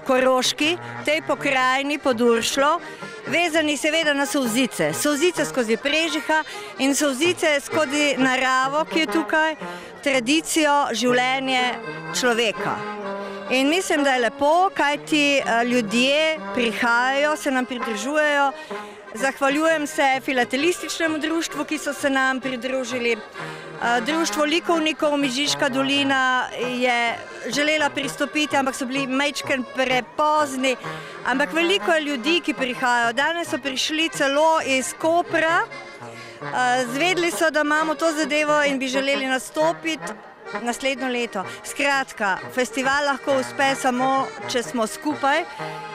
Koroški, tej pokrajini Poduršlo, vezani seveda na solzice. Solzice skozi Prežiha in solzice skozi naravo, ki je tukaj, tradicijo, življenje človeka. In mislim, da je lepo, kajti ljudje prihajajo, se nam pridružujejo. Zahvaljujem se filatelističnemu društvu, ki so se nam pridružili. Društvo likovnikov Mežiška dolina je želela pristopiti, ampak so bili majčken prepozni. Ampak veliko je ljudi, ki prihajajo. Danes so prišli celo iz Kopra. Zvedeli so, da imamo to zadevo in bi želeli nastopiti naslednjo leto. Skratka, festival lahko uspe samo, če smo skupaj,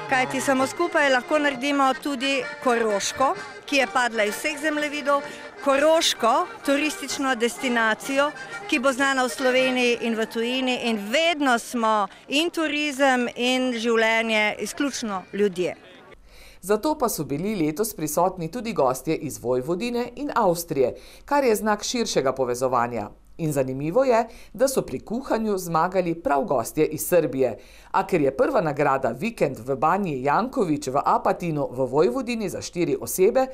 kajti samo skupaj lahko naredimo tudi Koroško, ki je padla iz vseh zemljevidov, Koroško, turistično destinacijo, ki bo znana v Sloveniji in v tujini in vedno smo in turizem in življenje izključno ljudje. Zato pa so bili letos prisotni tudi gostje iz Vojvodine in Avstrije, kar je znak širšega povezovanja. In zanimivo je, da so pri kuhanju zmagali prav gostje iz Srbije. A ker je prva nagrada vikend v Banji Janković v Apatinu v Vojvodini za štiri osebe,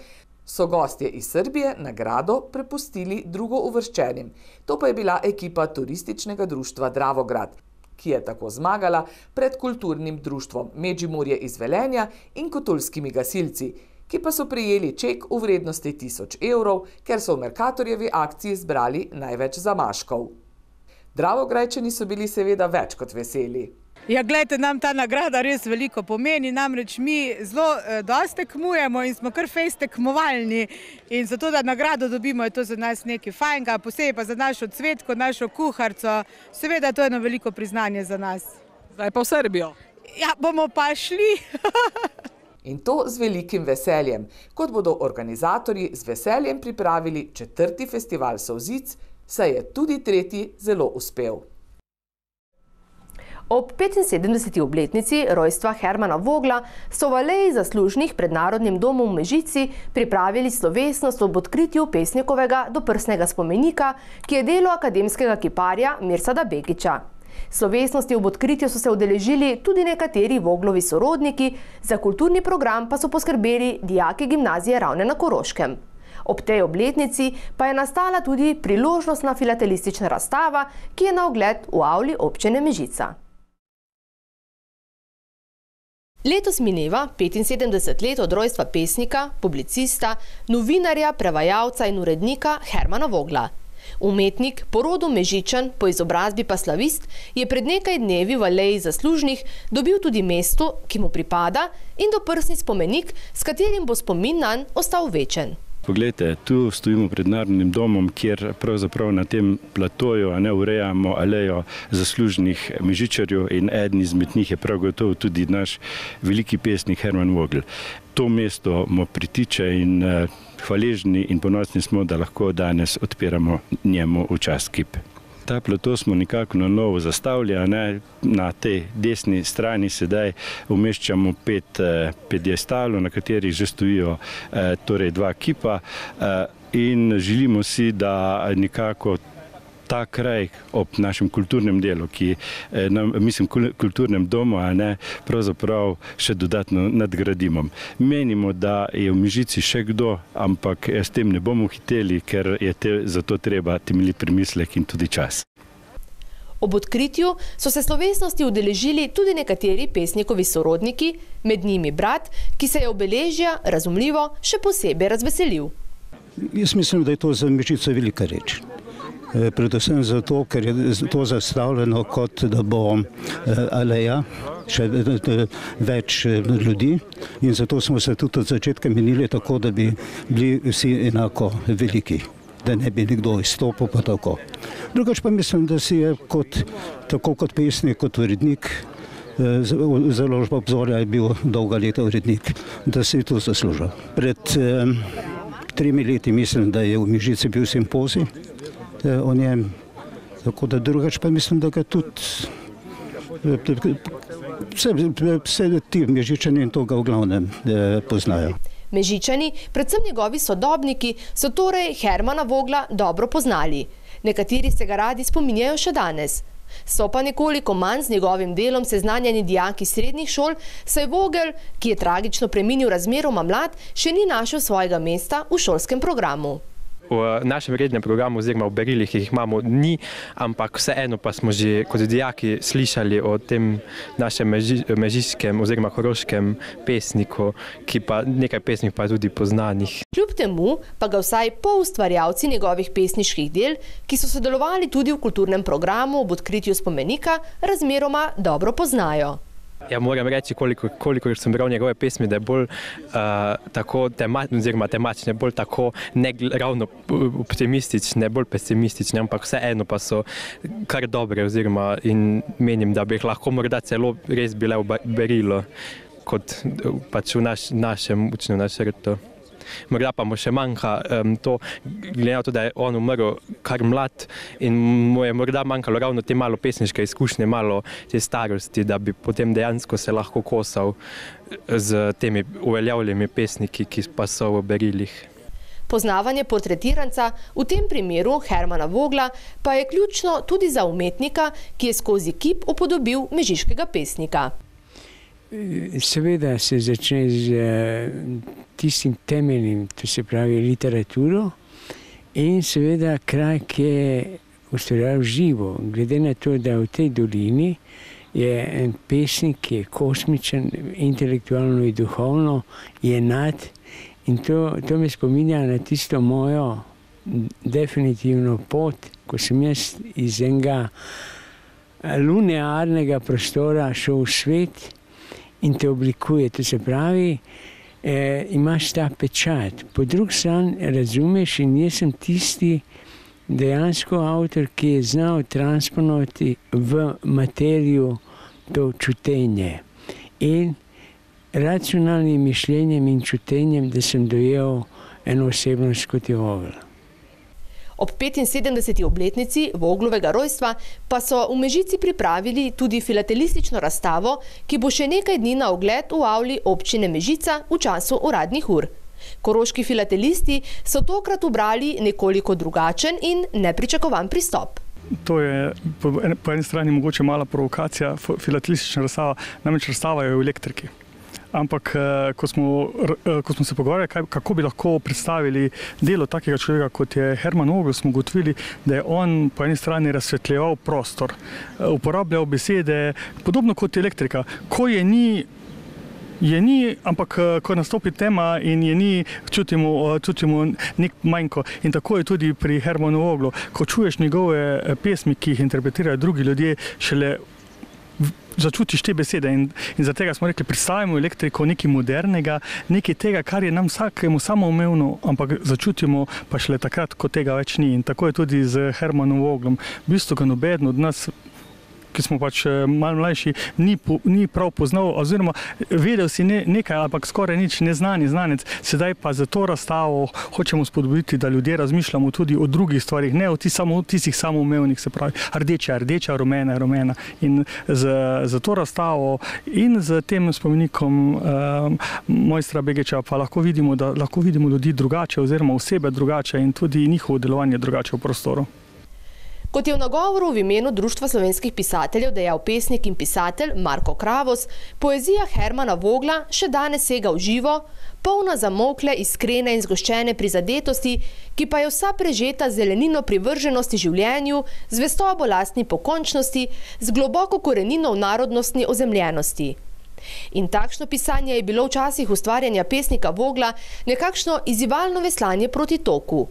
so gostje iz Srbije nagrado prepustili drugouvrščenim. To pa je bila ekipa turističnega društva Dravograd, ki je tako zmagala pred kulturnim društvom Međimurje iz Velenja in Kotulskimi gasilci, ki pa so prejeli ček v vrednosti tisoč evrov, ker so v Mercatorjevi akciji zbrali največ zamaškov. Dravograjčani so bili seveda več kot veseli. Ja, gledajte, nam ta nagrada res veliko pomeni, namreč mi zelo dosti tekmujemo in smo kar fejst tekmovalni in zato, da nagrado dobimo, je to za nas nekaj fajnega, posebej pa za našo cvetko, našo kuharco, seveda to je eno veliko priznanje za nas. Zdaj pa v Srbijo. Ja, bomo pa šli. In to z velikim veseljem, kot bodo organizatorji z veseljem pripravili četrti festival solzic, saj je tudi tretji zelo uspel. Ob petinsedemdeseti obletnici rojstva Hermana Vogla so v Aleji zaslužnih pred Narodnim domom v Mežici pripravili slovesnost ob odkritju pesnikovega doprsnega spomenika, ki je delo akademskega kiparja Mirsada Begića. Slovesnosti ob odkritju so se udeležili tudi nekateri Voglovi sorodniki, za kulturni program pa so poskrbeli dijaki gimnazije Ravne na Koroškem. Ob tej obletnici pa je nastala tudi priložnostna filatelistična razstava, ki je na ogled v avli občine Mežica. Letos mineva petinsedemdeset let od rojstva pesnika, publicista, novinarja, prevajalca in urednika Hermana Vogla. Umetnik, po rodu Mežičan, po izobrazbi pa slavist, je pred nekaj dnevi v Aleji zaslužnih dobil tudi mesto, ki mu pripada, in doprsni spomenik, s katerim bo spomin nanj ostal večen. Poglejte, tu stojimo pred Narodnim domom, kjer pravzaprav na tem platoju ne urejamo alejo zaslužnih Mežičarjev in eden izmed njih je prav gotovo tudi naš veliki pesnik Herman Vogel. To mesto mu pritiče in hvaležni in ponosni smo, da lahko danes odpiramo njemu v čast kip. Ta plato smo nekako na novo zastavljali, na tej desni strani sedaj umeščamo pet pjedestalov, na katerih že stojijo torej dva kipa in želimo si, da nekako ta kraj ob našem kulturnem delu, ki, mislim, kulturnem domu, a ne, pravzaprav še dodatno nadgradimo. Menimo, da je v Mežici še kdo, ampak s tem ne bomo hiteli, ker je te, zato treba temeljit premislek in tudi čas. Ob odkritju so se slovesnosti udeležili tudi nekateri pesnikovi sorodniki, med njimi brat, ki se je obeležja, razumljivo, še posebej razveselil. Jaz mislim, da je to za Mežico velika reč. Predvsem zato, ker je to zastavljeno kot, da bo aleja, še več ljudi in zato smo se tudi od začetka menili tako, da bi bili vsi enako veliki, da ne bi nekdo izstopil pa tako. Drugač pa mislim, da si je kot, tako kot pesnik, kot urednik, založba Obzorja je bil dolga leta urednik, da si je to zaslužil. Pred tremi leti mislim, da je v Mežici bil simpozij o njem, tako da drugač pa mislim, da ga tudi vse ti Mežičani in to ga v glavnem poznajo. Mežičani, predvsem njegovi sodobniki, so torej Hermana Vogla dobro poznali. Nekateri se ga radi spominjajo še danes. So pa nekoliko manj z njegovim delom seznanjeni dijaki srednjih šol, saj Vogel, ki je tragično preminil razmeroma mlad, še ni našel svojega mesta v šolskem programu. V našem rednem programu oziroma v berilih jih imamo ni, ampak vseeno pa smo že kot dijaki slišali o tem našem mežiškem oziroma koroškem pesniku, ki pa nekaj pesnikov pa tudi poznanih. Kljub temu pa ga vsaj poustvarjalci njegovih pesniških del, ki so sodelovali tudi v kulturnem programu ob odkritju spomenika, razmeroma dobro poznajo. Ja, moram reči, koliko, koliko sem bral njegove pesmi, da je bolj uh, tako tematične, oziroma tematične, bolj tako ne ravno optimistične, bolj pesimistične, ampak vseeno pa so kar dobre, oziroma in menim, da bi jih lahko morda celo res bile v berilu, kot pač v naš, našem učnem načrtu. Morda pa mu še manjka um, to, glede na to, da je on umrl kar mlad in mu je morda manjkalo ravno te malo pesniške izkušnje, malo te starosti, da bi potem dejansko se lahko kosal z temi uveljavljenimi pesniki, ki pa so v berilih. Poznavanje portretiranca, v tem primeru Hermana Vogla, pa je ključno tudi za umetnika, ki je skozi kip upodobil mežiškega pesnika. Seveda se začne z tistim temeljnim, to se pravi literaturo in seveda kraj, ki je ustvarjal živo. Glede na to, da v tej dolini je en pesnik, ki je kosmičen, intelektualno in duhovno, je nad in to, to me spominja na tisto mojo definitivno pot, ko sem jaz iz enega linearnega prostora šel v svet in te oblikuje, to se pravi, eh, imaš ta pečat. Po drugi strani razumeš in jaz sem tisti dejansko avtor, ki je znal transponovati v materijo to čutenje. In racionalnim mišljenjem in čutenjem, da sem dojel eno osebnost kot je Vogel. Ob petinsedemdeseti obletnici Voglovega rojstva pa so v Mežici pripravili tudi filatelistično razstavo, ki bo še nekaj dni na ogled v avli občine Mežica v času uradnih ur. Koroški filatelisti so tokrat ubrali nekoliko drugačen in nepričakovan pristop. To je po, po eni strani mogoče mala provokacija, filatelistična razstava, namreč razstava je v elektriki. Ampak ko smo, ko smo se pogovarjali, kako bi lahko predstavili delo takega človeka, kot je Herman Vogel, smo ugotovili, da je on po eni strani razsvetljeval prostor, uporabljal besede, podobno kot elektrika. Ko je ni, je ni, ampak ko nastopi tema in je ni, čutimo, čutimo nek manjko. In tako je tudi pri Hermanu Voglu. Ko čuješ njegove pesmi, ki jih interpretirajo drugi ljudje, šele začutiš te besede. In, in zaradi tega smo rekli, predstavimo elektriko nekaj modernega, nekaj tega, kar je nam vsakemu samoumevno, ampak začutimo pa šele takrat, ko tega več ni. In tako je tudi z Hermanom Voglom. V bistvu ga nobeden od nas, ki smo pač malo mlajši, ni, po, ni prav poznal, oziroma vedel si ne, nekaj, ampak skoraj nič, neznani znanec. Sedaj pa za to razstavo hočemo spodbuditi, da ljudje razmišljamo tudi o drugih stvarih, ne o tistih samo, tistih samoumevnih, se pravi, rdeča, rdeča, rumena, rumena. In za to razstavo in z tem spomenikom um, mojstra Begeča pa lahko vidimo, da lahko vidimo ljudi drugače, oziroma osebe drugače in tudi njihovo delovanje drugače v prostoru. Kot je v nagovoru v imenu Društva slovenskih pisateljev dejal pesnik in pisatelj Marko Kravos, poezija Hermana Vogla še danes sega v živo, polna zamolkle, iskrene in zgoščene prizadetosti, ki pa je vsa prežeta zelenino privrženosti življenju, zvestobo lastni pokončnosti, z globoko korenino v narodnostni ozemljenosti. In takšno pisanje je bilo včasih ustvarjanja pesnika Vogla nekakšno izzivalno veslanje proti toku.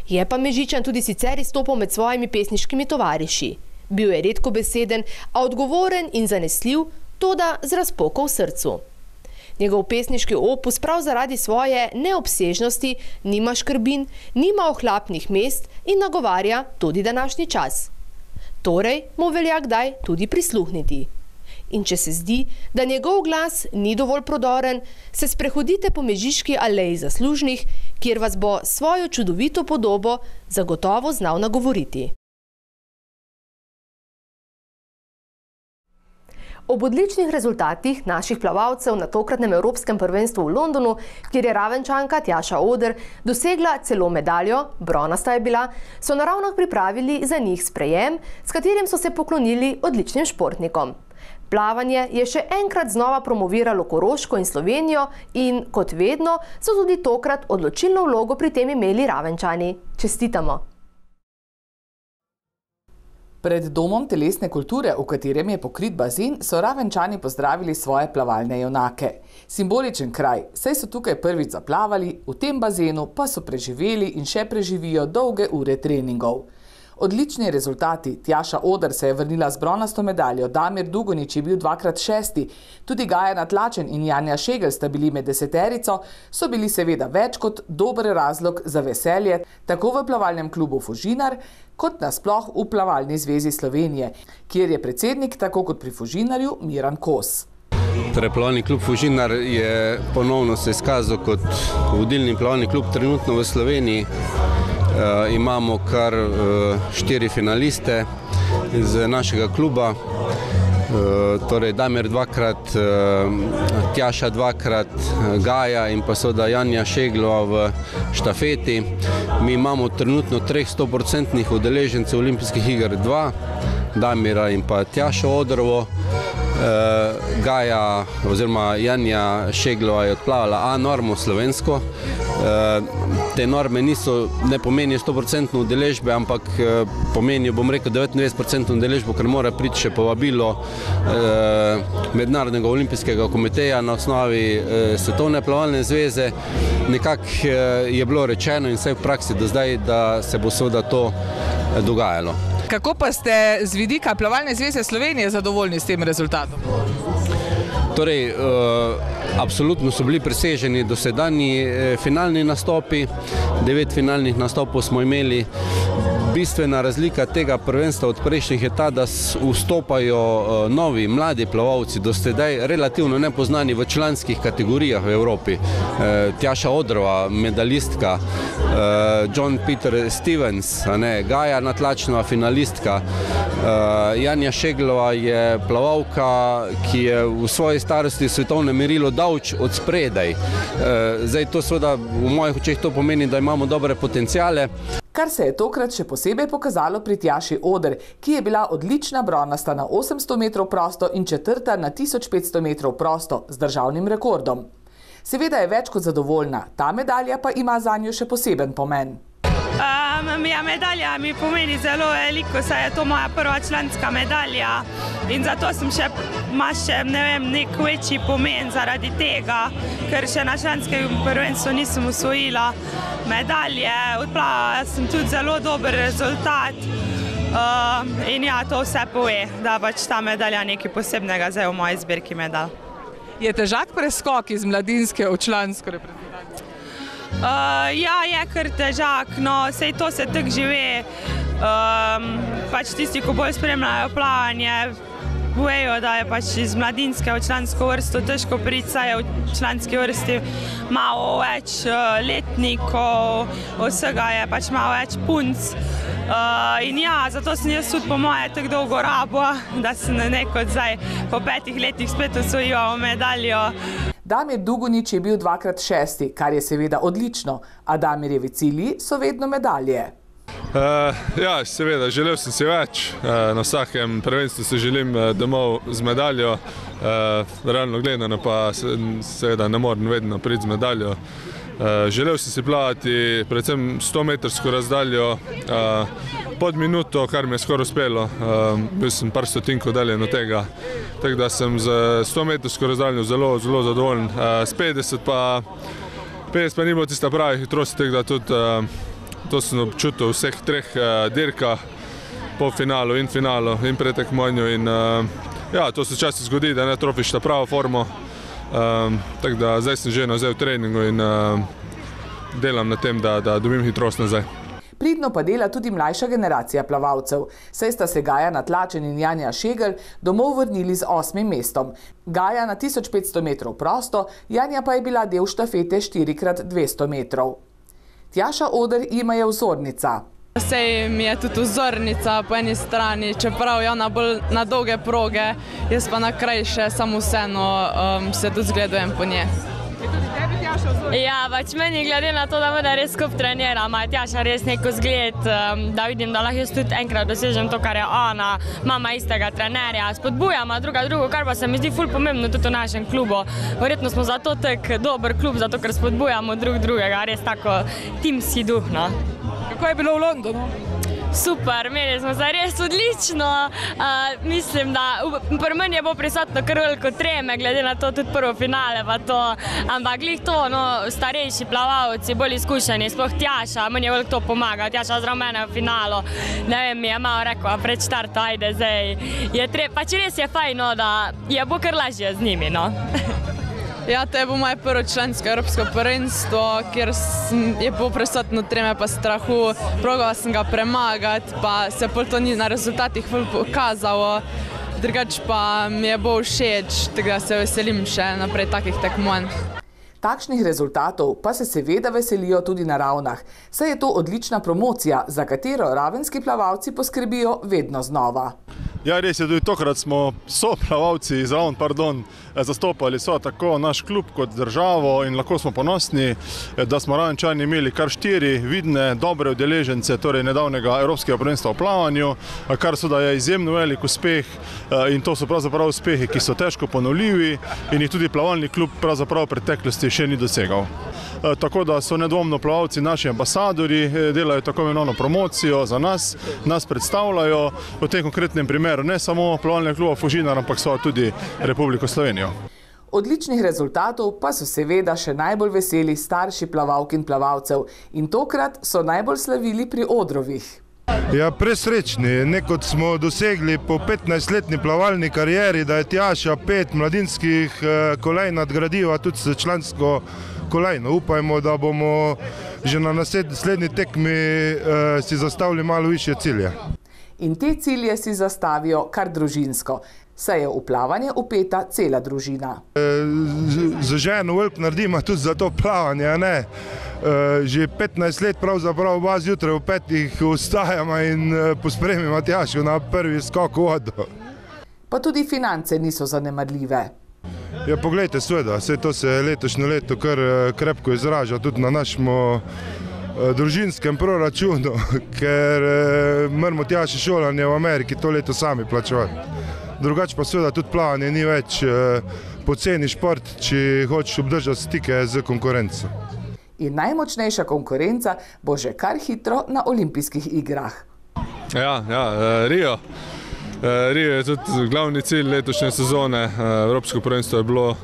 Je pa Mežičan tudi sicer izstopal med svojimi pesniškimi tovariši. Bil je redkobeseden, a odgovoren in zanesljiv, toda z razpoko v srcu. Njegov pesniški opus prav zaradi svoje neobsežnosti nima škrbin, nima ohlapnih mest in nagovarja tudi današnji čas. Torej mu velja kdaj tudi prisluhniti. In če se zdi, da njegov glas ni dovolj prodoren, se sprehodite po Mežiški aleji zaslužnih, kjer vas bo svojo čudovito podobo zagotovo znal nagovoriti. Ob odličnih rezultatih naših plavalcev na tokratnem Evropskem prvenstvu v Londonu, kjer je Ravenčanka Tjaša Oder dosegla celo medaljo, bronasta je bila, so na Ravnah pripravili za njih sprejem, s katerim so se poklonili odličnim športnikom. Plavanje je še enkrat znova promoviralo Koroško in Slovenijo in, kot vedno, so tudi tokrat odločilno vlogo pri tem imeli Ravenčani. Čestitamo! Pred domom telesne kulture, v katerem je pokrit bazen, so Ravenčani pozdravili svoje plavalne junake. Simboličen kraj, saj so tukaj prvič zaplavali, v tem bazenu pa so preživeli in še preživijo dolge ure treningov. Odlični rezultati. Tjaša Oder se je vrnila z bronasto medaljo, Damir Dugonič je bil dvakrat šesti, tudi Gaja Natlačen in Janja Šegel sta bili med deseterico, so bili seveda več kot dober razlog za veselje, tako v plavalnem klubu Fužinar, kot nasploh v Plavalni zvezi Slovenije, kjer je predsednik, tako kot pri Fužinarju, Miran Kos. Torej, plavalni klub Fužinar je ponovno se izkazal kot vodilni plavalni klub trenutno v Sloveniji. Uh, imamo kar uh, štiri finaliste iz našega kluba, uh, torej Damir dvakrat, uh, Tjaša dvakrat, Gaja in pa seveda Janja Šeglova v štafeti. Mi imamo trenutno treh stoprocentnih udeležencev olimpijskih iger, dva, Damira in pa Tjašo Odrovo. Uh, Gaja oziroma Janja Šeglova je odplavala A normo slovensko. Uh, te norme niso, ne pomenijo stoprocentno udeležbe, ampak uh, pomenijo, bom rekel, devetindevetdeset procentno udeležbo, ker mora priti še povabilo uh, Mednarodnega olimpijskega komiteja na osnovi uh, Svetovne plavalne zveze. Nekako uh, je bilo rečeno in vse v praksi do zdaj, da se bo seveda to uh, dogajalo. Kako pa ste z vidika Plavalne zveze Slovenije zadovoljni s tem rezultatom? Torej, uh, absolutno so bili preseženi dosedanji eh, finalni nastopi, devet finalnih nastopov smo imeli. Bistvena razlika tega prvenstva od prejšnjih je ta, da vstopajo novi, mladi plavalci, do sedaj relativno nepoznani v članskih kategorijah v Evropi. Tjaša Odrova, medalistka, John Peter Stevens, Gaja Natlačnova, finalistka, Janja Šeglova je plavalka, ki je v svoji starosti svetovne merilo daleč od spredaj. Zdaj to seveda v mojih očeh to pomeni, da imamo dobre potencijale. Kar se je tokrat še posebej pokazalo pri Tjaši Oder, ki je bila odlična bronasta na osemsto metrov prosto in četrta na tisoč petsto metrov prosto z državnim rekordom. Seveda je več kot zadovoljna, ta medalja pa ima zanjo še poseben pomen. Um, ja, medalja mi pomeni zelo veliko, saj je to moja prva članska medalja in zato sem še, ima še, ne vem, nek večji pomen zaradi tega, ker še na članskem prvenstvu nisem osvojila medalje, odplavala sem tudi zelo dober rezultat uh, in ja, to vse pove, da pač ta medalja nekaj posebnega zdaj v moji zbirki medalj. Je težak preskok iz mladinske v člansko reprezentanco? Uh, ja, je kar težak, no, sej to se tako žive. Um, pač tisti, ko bolj spremljajo plavanje, vejo, da je pač iz mladinske v člansko vrsto težko priti, saj je v članski vrsti malo več uh, letnikov, vsega je pač malo več punc. Uh, in ja, zato sem jaz tudi po moje tako dolgo rabila, da sem neko zdaj po petih letih spet osvojila medaljo. Damir Dugonič je bil dvakrat šesti, kar je seveda odlično, a Damirjevi cilji so vedno medalje. Uh, ja, seveda, želel sem si več. Uh, na vsakem prvenstvu se želim uh, domov z medaljo. Uh, realno gledano pa se, seveda ne morem vedno priti z medaljo. Uh, želel sem si plavati predvsem sto metrsko razdaljo uh, pod minuto, kar mi je skoraj uspelo. Uh, bil sem par stotinkov daljen od tega. Tako da sem z sto metrsko razdaljo zelo, zelo zadovoljen. Uh, s petdeset pa, petdeset pa ni bilo tista pravi hitrosti, tako da tudi uh, to sem občutil v vseh treh uh, dirkah, po finalu in finalu in pretekmovanju. In uh, ja, to se včasih zgodi, da ne trofiš ta pravo formo. Um, tako da zdaj sem že nazaj v treningu in uh, delam na tem, da, da dobim hitrost nazaj. Pridno pa dela tudi mlajša generacija plavalcev, saj sta se Gaja Natlačen in Janja Šegl domov vrnili z osmim mestom. Gaja na tisoč petsto metrov prosto, Janja pa je bila del štafete štiri krat dvesto metrov. Tjaša Oder jima je vzornica. Sej mi je tudi vzornica po eni strani, čeprav je ona bolj na dolge proge, jaz pa na krajše, samo vseeno um, se tudi zgledujem po nje. Je tudi tebi Tjaša vzornica? Ja, pač meni glede na to, da me da res skup trenira, ima Tjaša res neko zgled, um, da vidim, da lahko jaz tudi enkrat dosežem to, kar je ona, mama istega trenerja, spodbujama druga drugo, kar pa se mi zdi ful pomembno tudi v našem klubu. Verjetno smo zato tak dober klub, zato ker spodbujamo drug drugega, res tako timski duh, no. Kako je bilo v Londonu? Super, imeli smo se res odlično. Uh, mislim, da pri meni je bo prisotno kar veliko treme, glede na to tudi prvo finale pa to. Ampak glih to, no, starejši plavalci, bolj izkušeni, sploh Tjaša, meni je veliko to pomaga. Tjaša zraven mene v finalu, ne vem, mi je malo rekla pred štartom, ajde zdaj. Je tre... Pač res je fajn, no, da je bo kar lažje z njimi, no. Ja, to je bo moje prvo člansko evropsko prvenstvo, kjer je bilo prisotno treme pa strahu. Probala sem ga premagati, pa se pol to ni na rezultatih pokazalo. Drugač pa mi je bo všeč, tako da se veselim še naprej takih tekmovanj. Takšnih rezultatov pa se seveda veselijo tudi na Ravnah, saj je to odlična promocija, za katero ravenski plavalci poskrbijo vedno znova. Ja, res je, tudi tokrat smo soplavalci iz Raven, pardon, zastopali so tako naš klub kot državo in lahko smo ponosni, da smo Ravenčani imeli kar štiri vidne, dobre udeležence, torej nedavnega Evropskega prvenstva v plavanju, kar so da je izjemno velik uspeh in to so pravzaprav uspehi, ki so težko ponovljivi in jih tudi plavalni klub pravzaprav v preteklosti še ni dosegal. Tako da so nedvomno plavalci naši ambasadori, delajo tako imenovano promocijo za nas, nas predstavljajo v tem konkretnem primeru ne samo plavalnega kluba Fužinar, ampak so tudi Republiko Slovenijo. Odličnih rezultatov pa so seveda še najbolj veseli starši plavalk in plavalcev in tokrat so najbolj slavili pri odrovih. Ja, presrečni, nekot smo dosegli po petnajstletni plavalni karieri, da je Tjaša pet mladinskih kolajn nadgradila tudi s člansko kolajno. Upajmo, da bomo že na naslednji tekmi uh, si zastavili malo višje cilje. In te cilje si zastavijo kar družinsko, saj je v plavanje upeta cela družina. Z ženo veliko naredimo tudi za to plavanje, ne? Že petnajst let pravzaprav oba zjutraj v petih vstajamo in pospremimo Tjašo na prvi skok v vodo. Pa tudi finance niso zanemarljive. Ja, poglejte, seveda, vse to se letošnje leto kar krepko izraža tudi na našem družinskem proračunu, ker moramo Tjaši šolanje v Ameriki to leto sami plačevati. Drugače pa seveda tudi plavanje ni več poceni šport, če hočeš obdržati stike z konkurenco. In najmočnejša konkurenca bo že kar hitro na olimpijskih igrah. Ja, ja, Rio. Rio je tudi glavni cilj letošnje sezone. Evropsko prvenstvo je bilo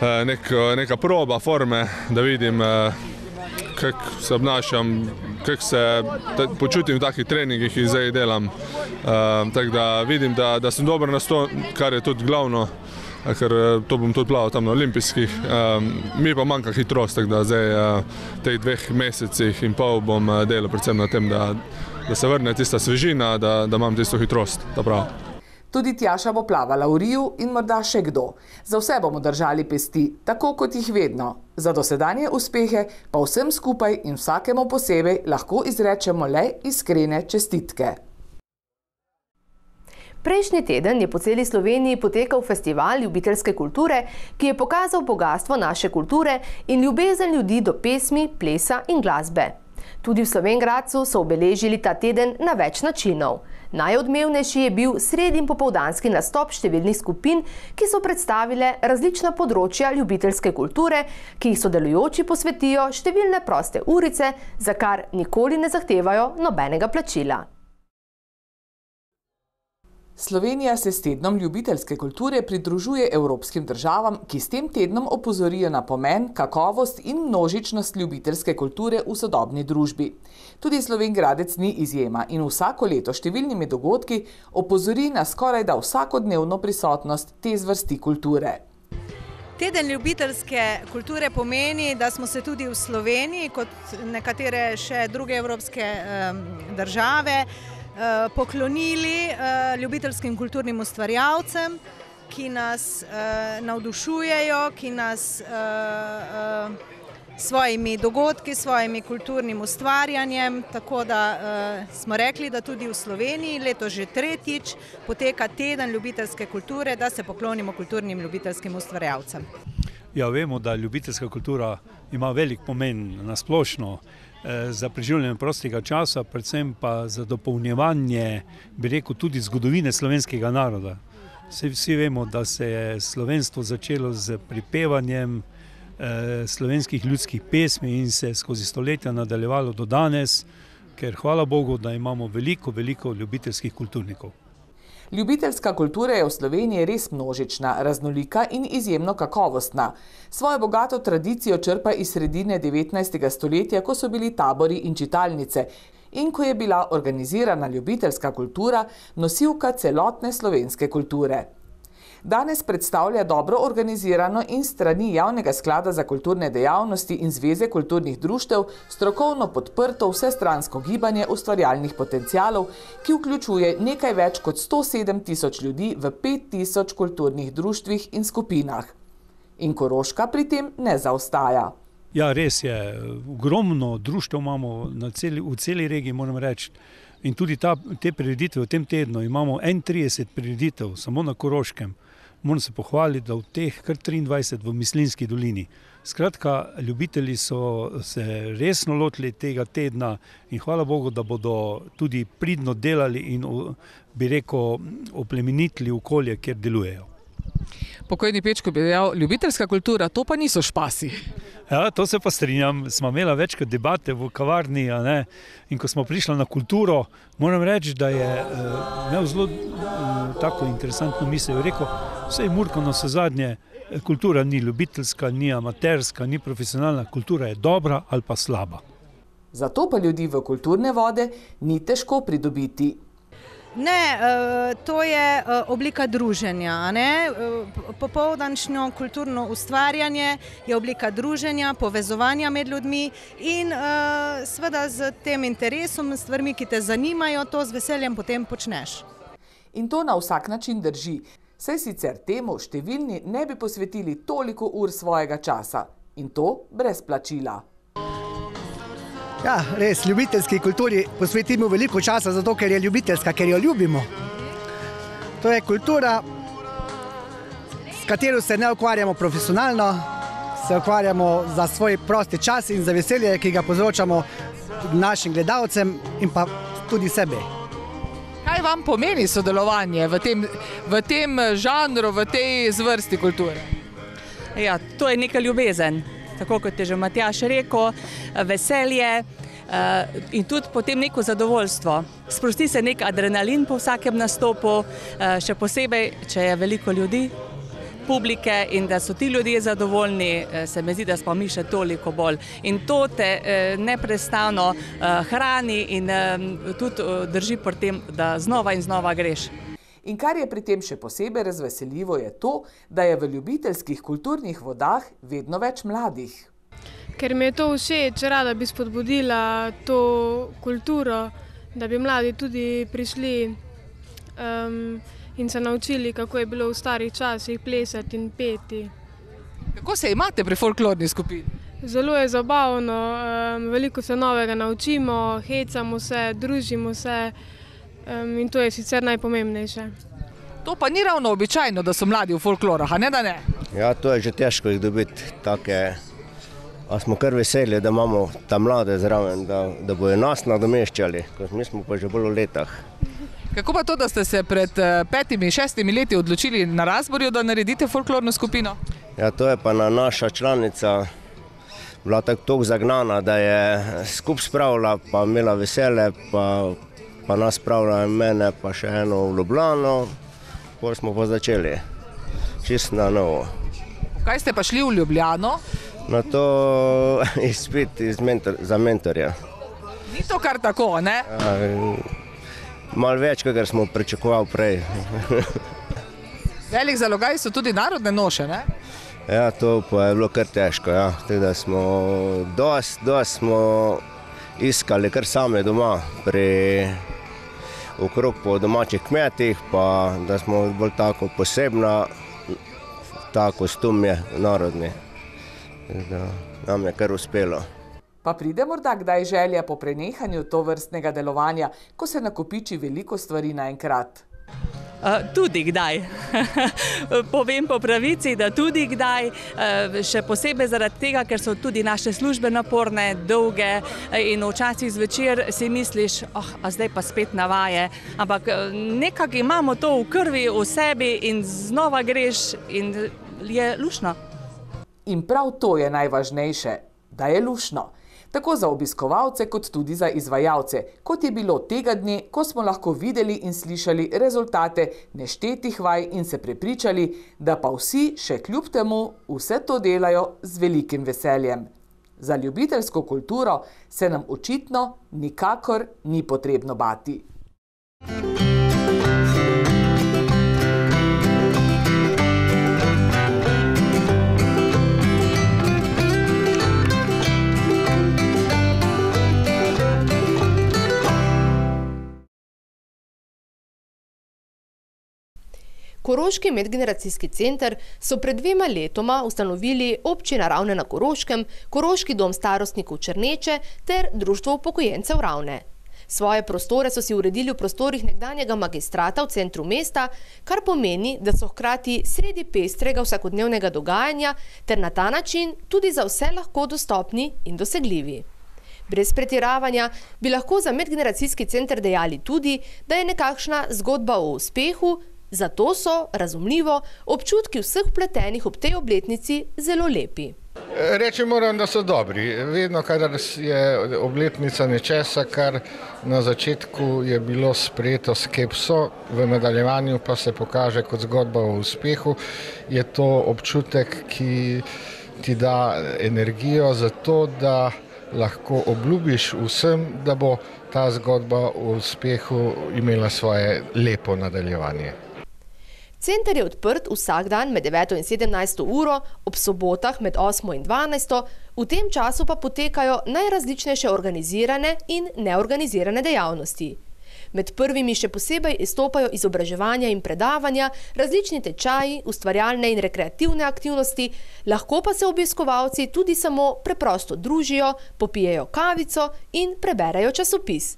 neka, neka proba forme, da vidim, kako se obnašam, kako se počutim v takih treningih in zdaj delam. Tako da vidim, da, da sem dober na sto, kar je tudi glavno, ker to bom tudi plaval tam na olimpijskih. Mi pa manjka hitrost, tako da zdaj v teh dveh mesecih in pol bom delal predvsem na tem, da, da se vrne tista svežina, da, da imam tisto hitrost, ta prav. Tudi Tjaša bo plavala v Riju in morda še kdo. Za vse bomo držali pesti, tako kot jih vedno. Za dosedanje uspehe pa vsem skupaj in vsakemu posebej lahko izrečemo le iskrene čestitke. Prejšnji teden je po celi Sloveniji potekal festival ljubiteljske kulture, ki je pokazal bogastvo naše kulture in ljubezen ljudi do pesmi, plesa in glasbe. Tudi v Slovenj Gradcu so obeležili ta teden na več načinov. Najodmevnejši je bil sredin popoldanski nastop številnih skupin, ki so predstavile različna področja ljubiteljske kulture, ki jih sodelujoči posvetijo številne proste urice, za kar nikoli ne zahtevajo nobenega plačila. Slovenija se s tednom ljubiteljske kulture pridružuje evropskim državam, ki s tem tednom opozorijo na pomen, kakovost in množičnost ljubiteljske kulture v sodobni družbi. Tudi Slovenj Gradec ni izjema in vsako leto številnimi dogodki opozori na skorajda vsakodnevno prisotnost te zvrsti kulture. Teden ljubiteljske kulture pomeni, da smo se tudi v Sloveniji, kot nekatere še druge evropske um, države, poklonili ljubiteljskim kulturnim ustvarjalcem, ki nas navdušujejo, ki nas svojimi dogodki, svojimi kulturnim ustvarjanjem, tako da smo rekli, da tudi v Sloveniji leto že tretjič poteka teden ljubiteljske kulture, da se poklonimo kulturnim ljubiteljskim ustvarjalcem. Ja, vemo, da ljubiteljska kultura ima velik pomen na splošno za preživljanje prostega časa, predvsem pa za dopolnjevanje, bi rekel, tudi zgodovine slovenskega naroda. Vsi, vsi vemo, da se je slovenstvo začelo z pripevanjem eh, slovenskih ljudskih pesmi in se skozi stoletja nadaljevalo do danes, ker hvala Bogu, da imamo veliko, veliko ljubiteljskih kulturnikov. Ljubiteljska kultura je v Sloveniji res množična, raznolika in izjemno kakovostna. Svojo bogato tradicijo črpa iz sredine devetnajstega stoletja, ko so bili tabori in čitalnice in ko je bila organizirana ljubiteljska kultura nosilka celotne slovenske kulture. Danes predstavlja dobro organizirano in strani Javnega sklada za kulturne dejavnosti in Zveze kulturnih društev strokovno podprto vsestransko gibanje ustvarjalnih potencialov, ki vključuje nekaj več kot sto sedem tisoč ljudi v pet tisoč kulturnih društvih in skupinah. In Koroška pri tem ne zaostaja. Ja, res je. Ogromno društev imamo na celi, v celi regiji, moram reči. In tudi ta, te prireditve v tem tednu imamo enaintrideset prireditev samo na Koroškem. Moram se pohvaliti, da v teh kar triindvajset v Mislinjski dolini. Skratka, ljubitelji so se resno lotili tega tedna in hvala Bogu, da bodo tudi pridno delali in, bi rekel, oplemenitili okolje, kjer delujejo. Pokojni Pečko bi dejal, ljubiteljska kultura, to pa niso špasi. Ja, to se pa strinjam. Smo imeli večkrat debate v kavarni, a ne? In ko smo prišli na kulturo, moram reči, da je uh, imel zelo uh, tako interesantno misel. Rekel, vse je Murko na vse zadnje, kultura ni ljubiteljska, ni amaterska, ni profesionalna, kultura je dobra ali pa slaba. Zato pa ljudi v kulturne vode ni težko pridobiti. Ne, to je oblika druženja. Popoldančno kulturno ustvarjanje je oblika druženja, povezovanja med ljudmi in seveda z tem interesom, stvarmi, ki te zanimajo, to z veseljem potem počneš. In to na vsak način drži. Saj sicer temu številni ne bi posvetili toliko ur svojega časa. In to brez plačila. Ja, res, ljubiteljski kulturi posvetimo veliko časa, zato ker je ljubiteljska, ker jo ljubimo. To je kultura, s katero se ne ukvarjamo profesionalno, se ukvarjamo za svoj prosti čas in za veselje, ki ga povzročamo našim gledalcem in pa tudi sebi. Kaj vam pomeni sodelovanje v tem, v tem žanru, v tej zvrsti kulture? Ja, to je neka ljubezen. Tako kot je že Matjaž rekel, veselje in tudi potem neko zadovoljstvo. Sprosti se nek adrenalin po vsakem nastopu, še posebej, če je veliko ljudi, publike in da so ti ljudje zadovoljni, se mi zdi, da smo mi še toliko bolj. In to te neprestano hrani in tudi drži pri tem, da znova in znova greš. In kar je pri tem še posebej razveseljivo je to, da je v ljubiteljskih kulturnih vodah vedno več mladih. Ker mi je to všeč, rada bi spodbudila to kulturo, da bi mladi tudi prišli um, in se naučili, kako je bilo v starih časih plesati in peti. Kako se imate pri folklorni skupini? Zelo je zabavno, um, veliko se novega naučimo, hecamo se, družimo se. Um, in to je sicer najpomembnejše. To pa ni ravno običajno, da so mladi v folklorah, a ne da ne? Ja, to je že težko jih dobiti take, a smo kar veseli, da imamo ta mlade zraven, da, da bojo nas nadomeščali, kot mi smo pa že bolj v letah. Kako pa to, da ste se pred petimi, šestimi leti odločili na Razborju, da naredite folklorno skupino? Ja, to je pa na naša članica bila tako zagnana, da je skup spravila, pa imela vesele, pa pa nas spravila mene, pa še eno v Ljubljano, potem smo pa začeli, čisto na novo. Kaj ste pa šli v Ljubljano? Na to izpit iz mentor, za mentorja. Ni to kar tako, ne? Ja, malo več, kakor smo pričakovali prej. Velik zalogaj so tudi narodne noše, ne? Ja, to pa je bilo kar težko, ja. Teda smo dost, dost smo iskali kar same doma, pri okrog po domačih kmetih, pa da smo bolj tako posebna, ta kostum je narodni. Da nam je kar uspelo. Pa pride morda kdaj želja po prenehanju tovrstnega delovanja, ko se nakopiči veliko stvari naenkrat? Tudi kdaj. Povem po pravici, da tudi kdaj, še posebej zaradi tega, ker so tudi naše službe naporne, dolge in včasih zvečer si misliš, oh, a zdaj pa spet navaje, ampak nekako imamo to v krvi, v sebi in znova greš in je luštno. In prav to je najvažnejše, da je luštno. Tako za obiskovalce, kot tudi za izvajalce, kot je bilo tega dne, ko smo lahko videli in slišali rezultate neštetih vaj in se prepričali, da pa vsi še kljub temu vse to delajo z velikim veseljem. Za ljubiteljsko kulturo se nam očitno nikakor ni potrebno bati. Koroški medgeneracijski center so pred dvema letoma ustanovili Občina Ravne na Koroškem, Koroški dom starostnikov Črneče ter Društvo upokojencev Ravne. Svoje prostore so si uredili v prostorih nekdanjega magistrata v centru mesta, kar pomeni, da so hkrati sredi pestrega vsakodnevnega dogajanja ter na ta način tudi za vse lahko dostopni in dosegljivi. Brez pretiravanja bi lahko za medgeneracijski center dejali tudi, da je nekakšna zgodba o uspehu, zato so, razumljivo, občutki vseh vpletenih ob tej obletnici zelo lepi. Reči moram, da so dobri. Vedno, kadar je obletnica nečesa, kar na začetku je bilo sprejeto skepso, v nadaljevanju pa se pokaže kot zgodba o uspehu, je to občutek, ki ti da energijo za to, da lahko obljubiš vsem, da bo ta zgodba o uspehu imela svoje lepo nadaljevanje. Center je odprt vsak dan med deveto in sedemnajsto uro, ob sobotah med osmo in dvanajsto, v tem času pa potekajo najrazličnejše organizirane in neorganizirane dejavnosti. Med prvimi še posebej izstopajo izobraževanja in predavanja, različni tečaji, ustvarjalne in rekreativne aktivnosti, lahko pa se obiskovalci tudi samo preprosto družijo, popijejo kavico in preberejo časopis.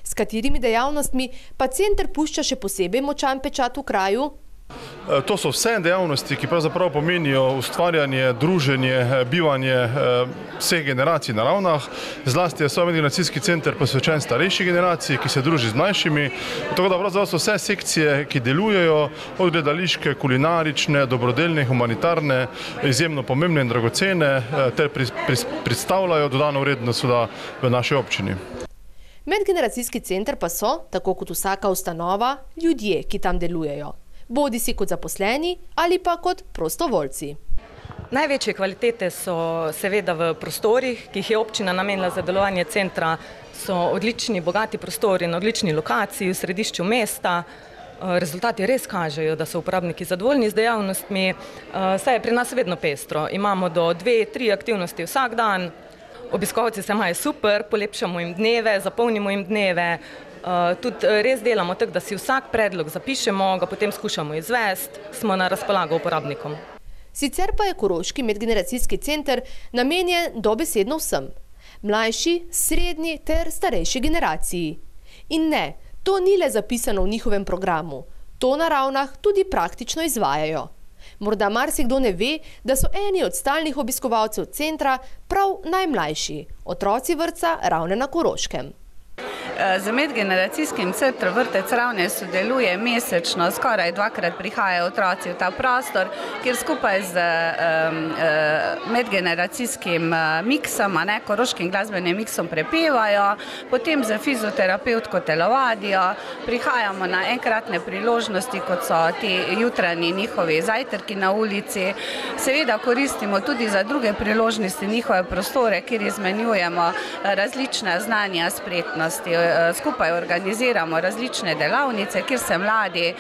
S katerimi dejavnostmi pa center pušča še posebej močan pečat v kraju? To so vse dejavnosti, ki pravzaprav pomenijo ustvarjanje, druženje, bivanje vseh generacij na Ravnah. Zlasti je svoj medgeneracijski center posvečen starejši generaciji, ki se druži z mlajšimi. Tako da pravzaprav so vse sekcije, ki delujejo, od gledališke, kulinarične, dobrodelne, humanitarne, izjemno pomembne in dragocene, ter predstavljajo dodano vrednost v naši občini. Medgeneracijski center pa so, tako kot vsaka ustanova, ljudje, ki tam delujejo. Bodi si kot zaposleni ali pa kot prostovoljci. Največje kvalitete so seveda v prostorih, ki jih je občina namenila za delovanje centra. So odlični, bogati prostori na odlični lokaciji v središču mesta. Rezultati res kažejo, da so uporabniki zadovoljni z dejavnostmi. Saj je pri nas vedno pestro. Imamo do dve, tri aktivnosti vsak dan. Obiskovalci se imajo super, polepšamo jim dneve, zapolnimo jim dneve. Tudi res delamo tako, da si vsak predlog zapišemo, ga potem skušamo izvesti, smo na razpolago uporabnikom. Sicer pa je Koroški medgeneracijski center namenjen dobesedno vsem. Mlajši, srednji ter starejši generaciji. In ne, to ni le zapisano v njihovem programu. To na Ravnah tudi praktično izvajajo. Morda marsikdo ne ve, da so eni od stalnih obiskovalcev centra prav najmlajši, otroci vrtca Ravne na Koroškem. Z medgeneracijskim centrom Vrtec Ravne sodeluje mesečno, skoraj dvakrat prihajajo otroci v ta prostor, kjer skupaj z um, medgeneracijskim miksom, ne, koroškim glasbenim miksom prepevajo, potem za fizioterapevtko telovadijo, prihajamo na enkratne priložnosti, kot so ti jutranji njihovi zajtrki na ulici. Seveda koristimo tudi za druge priložnosti njihove prostore, kjer izmenjujemo različna znanja, spretnosti. Skupaj organiziramo različne delavnice, kjer se mladi,